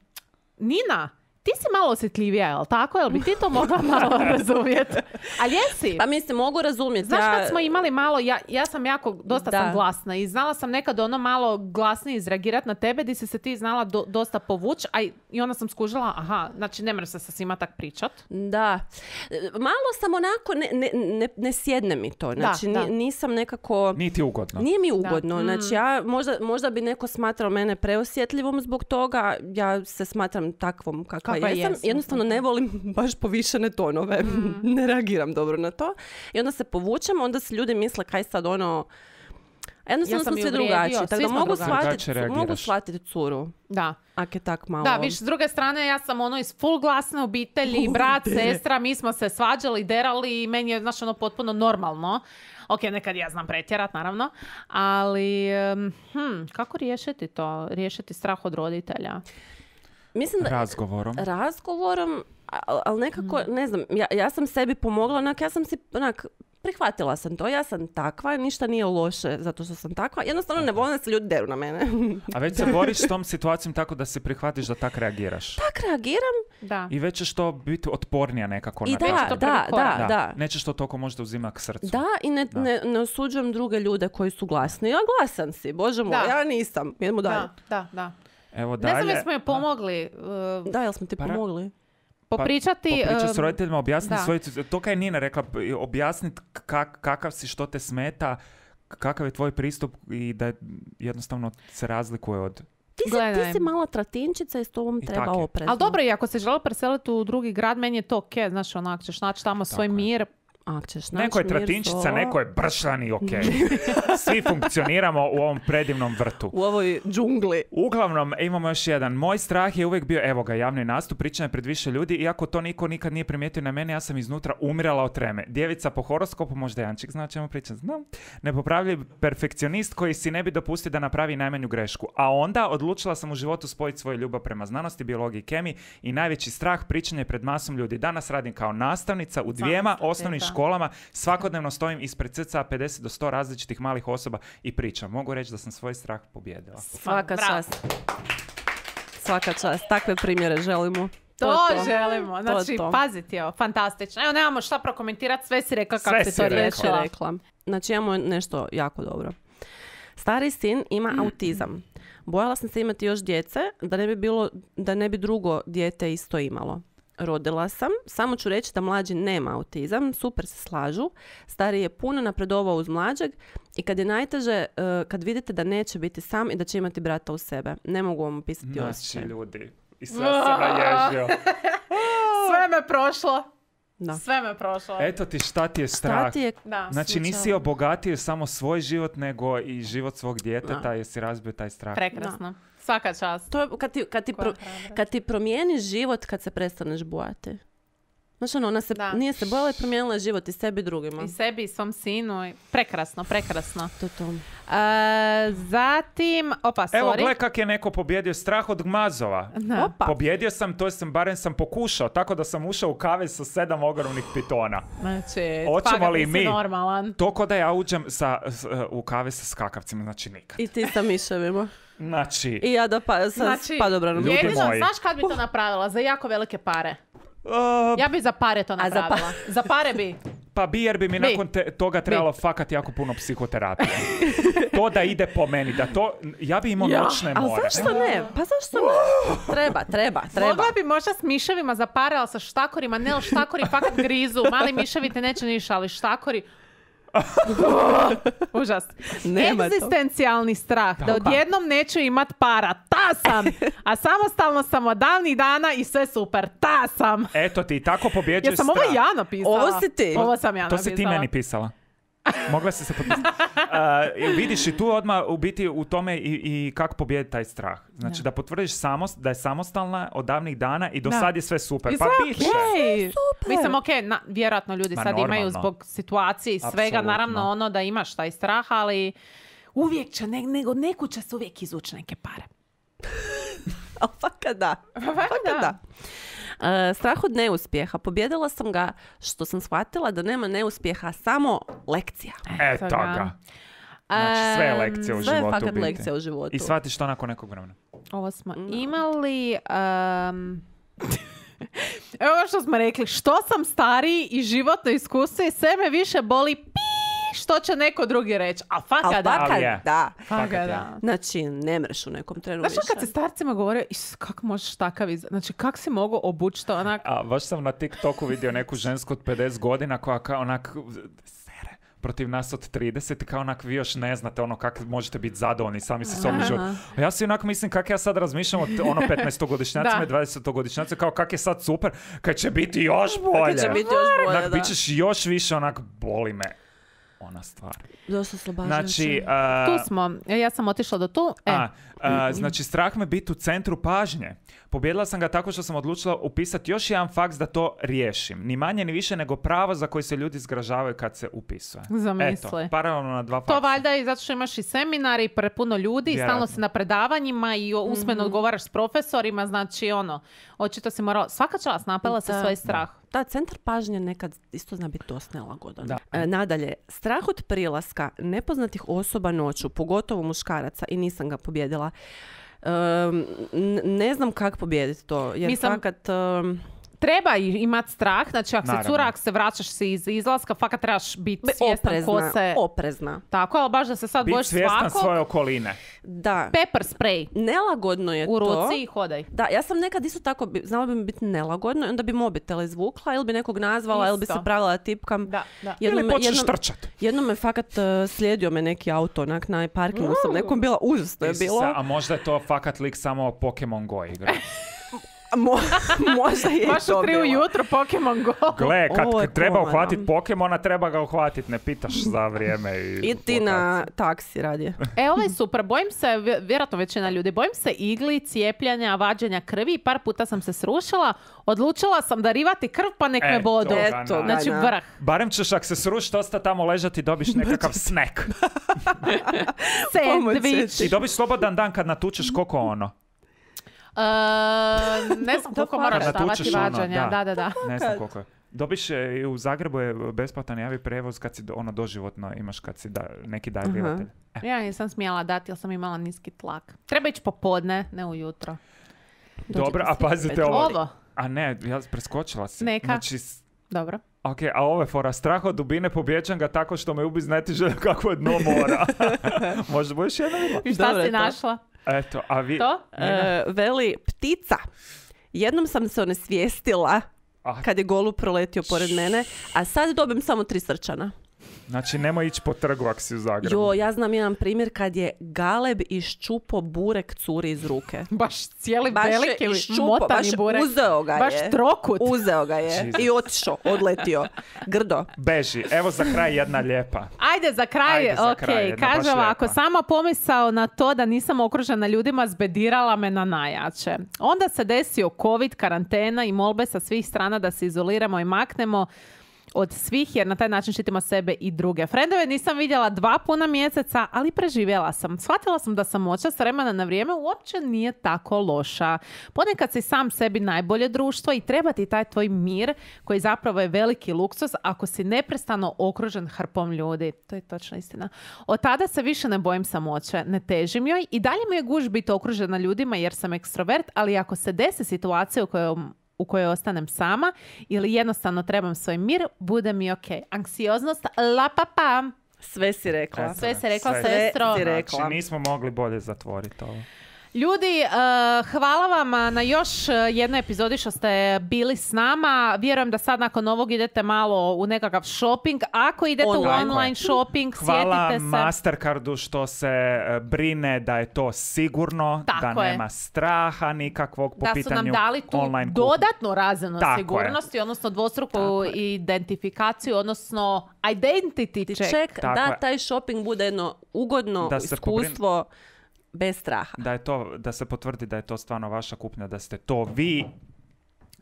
Nina, ti si malo osjetljivija, jel tako? Jel bi ti to mogla malo razumjeti? Ali jesi? pa mislim, mogu razumjeti. Znaš ja, kad smo imali malo, ja, ja sam jako, dosta Da. sam glasna i znala sam nekad ono malo glasnije izreagirati na tebe di si se ti znala do- dosta povući, a i, i onda sam skužila, aha, znači ne moraš se sa svima tak pričat. Da. E, Malo sam onako, ne, ne, ne, ne sjedne mi to. Znači, da. ni- nisam nekako... Nije ti ugodno. Nije mi ugodno. Da. Znači, ja, možda, možda bi neko smatrao mene preosjetljivom zbog toga. Ja se smatram takvom kakva, Kakva jesam. jesam. Jednostavno ne volim baš povišene tonove. Ne reagiram dobro na to. I onda se povučem, onda se ljudi misle kaj sad ono... Jednostavno Ja sam smo ju svi uvrijedio, drugačiji. svi Tako da smo mogu drugačiji. shvatiti, Drugačije reagiraš. mogu shvatiti curu. Da. Ak je tak malo... Da, viš, s druge strane, ja sam ono iz full glasne obitelji, brat, sestra, mi smo se svađali, derali i meni je, znaš, ono potpuno normalno. Ok, nekad ja znam pretjerat, naravno, ali em, hm, kako riješiti to? Riješiti strah od roditelja? Mislim da... Razgovorom. razgovorom, ali nekako, ne znam, ja, ja sam sebi pomogla, onak, ja sam si, onak, prihvatila sam to, ja sam takva, ništa nije loše zato što sam takva, jednostavno ne volim da se ljudi deru na mene. A već se boriš s tom situacijom tako da se prihvatiš da tak reagiraš. Tak reagiram Da. I već ćeš to biti otpornija nekako i na da, to. to prvi da, korak. da, da. Nećeš to toliko možda uzima k srcu. Da, i ne, Da. ne, ne osuđujem druge ljude koji su glasni. Ja glasan si, bože moj, Da. ja nisam. Idemo dalje. Da, da, da. Evo Ne znam dalje. jesmo joj pomogli uh, Da, jel smo ti Pa ra- pomogli? popričati. Popričati s um, roditeljima, objasniti da. svoju... To kaj je Nina rekla, objasniti kak, kakav si, što te smeta, kakav je tvoj pristup i da jednostavno se razlikuje od... Ti si, Gledaj. ti si mala tratinčica i s tobom I treba tak je. oprezno. Ali dobro, i ako se žele preseliti u drugi grad, meni je to ok, znaš, onak ćeš naći tamo svoj je. mir. Ak ćeš naći Neko je mir tratinčica, svo- neko je bršan i ok. Svi funkcioniramo u ovom predivnom vrtu. u ovoj džungli. Uglavnom, imamo još jedan. Moj strah je uvijek bio, evo ga, javni nastup, pričanje pred više ljudi, iako to niko nikad nije primijetio na mene, ja sam iznutra umirala od treme. Djevica po horoskopu, možda Jančik zna o čemu pričam, znam. Nepopravljiv perfekcionist koji si ne bi dopustio da napravi najmanju grešku. A onda odlučila sam u životu spojiti svoju ljubav prema znanosti, biologiji i kemiji i najveći strah pričanje pred masom ljudi. Danas radim kao nastavnica u dvijema Zamislite, osnovnih da. školama, svakodnevno stojim ispred cca pedeset do sto različitih malih osoba i pričam. Mogu reći da sam svoj strah pobjedila. Svaka Bravo. čast. Svaka čast. Takve primjere želimo. To, je to. želimo. To Znači, je to. paziti, evo, fantastično. Evo, nemamo šta prokomentirati, sve si rekla kako Sve si si to rekla. Već je riješila. rekla. Znači imamo nešto jako dobro. Stari sin ima autizam. Bojala sam se imati još djece da ne bi bilo, da ne bi drugo dijete isto imalo. Rodila sam, samo ću reći da mlađi nema autizam, super se slažu. Stari je puno napredovao uz mlađeg i kad je najteže, eh, kad vidite da neće biti sam i da će imati brata u sebe. Ne mogu vam opisati Znači, osjećaj. ljudi. I sve se naježio. Sve me prošlo. Da. Sve me prošlo. Eto ti šta ti je strah. Šta ti je Da. Znači nisi slučajno? obogatio samo svoj život, nego i život svog djeteta, Da. jer si razbio taj strah. Prekrasno. Svaka čast. To je kad ti, kad ti, Koja pro- hrabrost. kad ti promijeniš život kad se prestaneš bojati. Znaš, ono, ona se, Da. nije se bojala i promijenila je život i sebi i drugima. I sebi i svom sinu. i- Prekrasno, prekrasno. To je to. E, zatim, opa, sorry. Evo, gle kak je neko pobjedio strah od gmazova. Da. Opa. Pobjedio sam, to sam, barem sam pokušao, tako da sam ušao u kavez sa sedam ogromnih pitona. Znači, Hoćemo fakat li nisi mi? normalan. To ko da ja uđem sa, s- u kavez sa skakavcima, znači nikad. I ti sa miševima. Znači, I ja da pa, sa Znači, padobranom. Ljudi jedino, moji. znaš kad bi to napravila? Za jako velike pare. uh, Ja bi za pare to za pa- napravila. Za pare bi. pa bi jer bi mi Bi. nakon te- toga trebalo fakat jako puno psihoterapije. To da ide po meni, da to, ja bi imao Ja, noćne Ali more. zašto ne? Pa zašto ne? Treba, treba, treba. Mogla bi možda s miševima za pare, ali sa štakorima. Ne, ali štakori fakat grizu. Mali miševi te neće ništa, ali štakori... Užas. Nema to. Egzistencijalni strah. Da Tako. odjednom neću imat para. Ta sam! A samostalno sam od davnih dana i sve super. Ta sam! Eto ti, tako pobjeđuješ Jesam ovo strah. ja napisala? Ovo si ti. Ovo sam ja To napisala. si ti meni pisala. Mogla si se potpisati. Uh, vidiš i tu odmah u biti u tome i, i kako pobijediti taj strah. Znači da, potvrdiš samos, da je samostalna od davnih dana i do Da. sad je sve super. I Pa sve bit će. okej. Mislim, okej, na- vjerojatno ljudi Ma, sad imaju normalno. zbog situacije i svega, Apsolutno. naravno ono da imaš taj strah, ali uvijek će, ne, nego neku će se uvijek izvući neke pare. A fakat da. Fakat da. E, strah od neuspjeha. Pobjedila sam ga što sam shvatila da nema neuspjeha, samo lekcija. Eto ga. ga. Znači sve je Em, lekcija u Sve je životu. fakat biti. lekcija u životu. I shvatiš to nakon nekog vremena. Ovo smo imali... em, Evo ovo što smo rekli, što sam stariji i životno iskustvo i sve me više boli pi, što će neko drugi reći. A Ali fakat da. fakat Ali je. da. Fakat fakat je. da. Znači, ne mreš u nekom trenu Znaš više. što kad se starcima govore, is, kak možeš takav iz... Znači, kak si mogu obući to onak... A baš sam na TikToku vidio neku žensku od pedeset godina koja kao onak sere protiv nas od trideset i kao onak vi još ne znate ono kako možete biti zadovoljni sami sa sobom život. A ja si onako mislim kak ja sad razmišljam od ono petnaestogodišnjacima Da. i dvadesetogodišnjacima kao kak je sad super kad će biti još bolje. Kad će biti još bolje, Onak, da. bit ćeš još više onak boli me ona stvar. Dosta oslobađajuće. Znači, a, Tu smo. Ja sam otišla do tu. E, a, a, znači, strah me biti u centru pažnje. Pobjedila sam ga tako što sam odlučila upisati još jedan faks da to riješim. Ni manje ni više nego pravo za koji se ljudi zgražavaju kad se upisuje. Zamisli. Eto, paralelno na dva faksa. to valjda i zato što imaš i seminari i prepuno ljudi i stalno Vjerojatno. si na predavanjima i o- usmeno odgovaraš s profesorima, znači ono, očito si morala, svaka čast napela se Da. svoj strah. Da, centar pažnje nekad isto zna biti dosta nelagodan. Da. E, nadalje, strah od prilaska nepoznatih osoba noću, pogotovo muškaraca, i nisam ga pobjedila. Um, n- ne znam kako pobijediti to, jer Mislim- fakat... um, Treba i imat strah, znači ako si Naravno. cura, ako se vraćaš se iz izlaska, fakat trebaš biti be- svjestan ko oprezna, se... oprezna. Tako, ali baš da se sad Biti bojiš svjestan svakog, svoje okoline. Da, pepper spray nelagodno je u to. ruci i hodaj. Da, ja sam nekad isto tako, bi- znala bi mi biti nelagodno i onda bi mobitel izvukla ili bi nekog nazvala ili bi se Isto. pravila da tipkam. Da, da. Jednom Ili me- počneš jednom- trčat. Jednom me fakat uh, slijedio me neki auto onak na parkingu sam nekom bila, užasno je Isuse, bilo. A možda je to fakat lik samo Pokemon Go igra. Mo- možda je Baš to u tri bilo. ujutro Pokemon Go. Gle, kad Ovo je treba komana. uhvatiti Pokemona, treba ga uhvatiti, ne pitaš za vrijeme i... I ti na taksi radije. E, ovo je super. Bojim se, vj- vjerojatno većina ljudi, bojim se igli, cijepljenja, vađenja krvi. Par puta sam se srušila. Odlučila sam darivati krv, pa nek me Eto bodu. ga, Eto na. ga. Znači na. vrh. Barem ćeš, ako se srušiti, ostati tamo ležati i dobiš nekakav snack. Sandvič. I dobiš slobodan dan kad natučeš koliko ono. E, ne znam koliko fakat. moraš Kad stavati natučeš ono, vađanja. da. Da, da, da. Ne znam koliko je. Dobiš e, i u Zagrebu je besplatan javi prevoz kad si do- ono doživotno imaš kad si da, neki darivatelj. E, Ja nisam smjela dati jer sam imala niski tlak. Treba ići popodne, ne ujutro. Dobro, a svi pazite pet ovo. Ovo. A ne, ja preskočila si. Neka. Znači, s- Dobro. ok, a ovo je fora. Strah od dubine, pobjeđam ga tako što me ubi znatiže kakvo je dno mora. Možda budeš jedna vidjela? I šta Dobro je si to. našla? Eto, a vi... To? E, veli, ptica. Jednom sam se onesvijestila Ah. kad je golub proletio pored mene, a sad dobim samo tri srčana. Znači, nemoj ići po trgu ako si u Zagrebu. Jo, ja znam jedan primjer kad je Galeb iščupo burek curi iz ruke. Baš cijeli Baš je veliki iščupo, motani baš burek. uzeo ga je. Baš trokut. Uzeo ga je Jesus. i otišao, odletio. Grdo. Beži. Evo za kraj jedna lijepa. Ajde za kraj, Ajde za ok, kraj, jedna baš kaže ovako, lijepa. sama pomisao na to da nisam okružena ljudima zbedirala me na najjače. Onda se desio COVID, karantena i molbe sa svih strana da se izoliramo i maknemo od svih, jer na taj način štitimo sebe i druge. Frendove nisam vidjela dva puna mjeseca, ali preživjela sam. Shvatila sam da samoća s vremena na vrijeme uopće nije tako loša. Ponekad si sam sebi najbolje društvo i treba ti taj tvoj mir, koji zapravo je veliki luksuz ako si neprestano okružen hrpom ljudi. To je točna istina. Od tada se više ne bojim samoće, ne težim joj i dalje mi je guž biti okružena ljudima jer sam ekstrovert, ali ako se desi situacija u kojoj u kojoj ostanem sama ili jednostavno trebam svoj mir, bude mi ok. Anksioznost, la pa pa. Sve si rekla. Eto. Sve se rekla, Sve sestro. si rekla. Znači, nismo mogli bolje zatvoriti ovo. Ljudi, uh, hvala vam na još uh, jednoj epizodi što ste bili s nama. Vjerujem da sad nakon ovog idete malo u nekakav shopping. Ako idete Online. u online shopping, Hvala sjetite se. Mastercardu što se e, brine da je to sigurno, Tako da je. nema straha nikakvog po Da su pitanju nam dali tu online kupnje. dodatnu razinu Tako je. sigurnosti, odnosno dvostruku Tako je. identifikaciju, odnosno identity check. Ček, Tako da je. taj shopping bude jedno ugodno Da se iskustvo bez straha. Da je to, da se potvrdi da je to stvarno vaša kupnja, da ste to vi.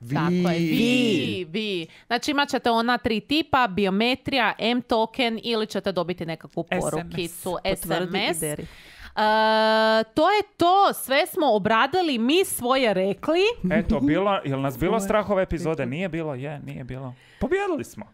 Vi. Tako je, vi, vi. Znači imat ćete ona tri tipa, biometrija, M-token ili ćete dobiti nekakvu S M S. porukicu, Potvrdi i S M S. deri. Uh, to je to, sve smo obradili, mi svoje rekli. Eto, bilo, jel nas bilo strah ove epizode? Nije bilo, je, nije bilo. Pobjedili smo.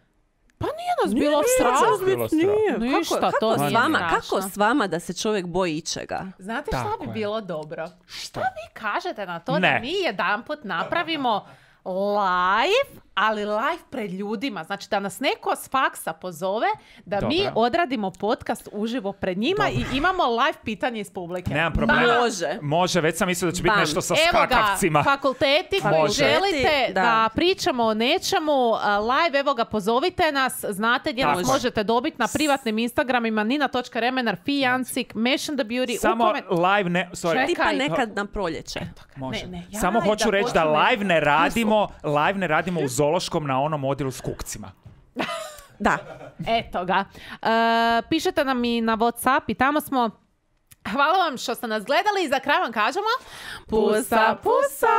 Pa nije nas bilo nije strah. nas bilo strah. Nije. Ništa, kako, to kako, nije s vama, strašno. kako s vama da se čovjek boji ičega? Znate Tako šta bi je. bilo dobro? Što? Vi kažete na to da Ne. mi jedanput napravimo live, ali live pred ljudima. Znači da nas neko s faksa pozove, da mi Dobro. odradimo podcast uživo pred njima Dobro. i imamo live pitanje iz publike. Nemam problema. Može. Može, već sam mislio da će biti Bam. nešto sa Evo ga, skakavcima. fakulteti koji Može. želite da. Da. pričamo o nečemu, uh, live, evo ga, pozovite nas, znate gdje Tako nas je. možete dobiti na privatnim Instagramima, nina točka remenar, fijancik, Mission the Beauty, Samo u komen- live ne... Sorry. Tipa Čekaj. nekad na proljeće. Može. Ne, ne, jaj, Samo hoću da reći da počne- live ne radimo, live ne radimo u Zološkom na onom odjelu s kukcima. Da. Eto ga. Uh, pišete nam i na WhatsApp i tamo smo. Hvala vam što ste nas gledali i za kraj vam kažemo Pusa, pusa!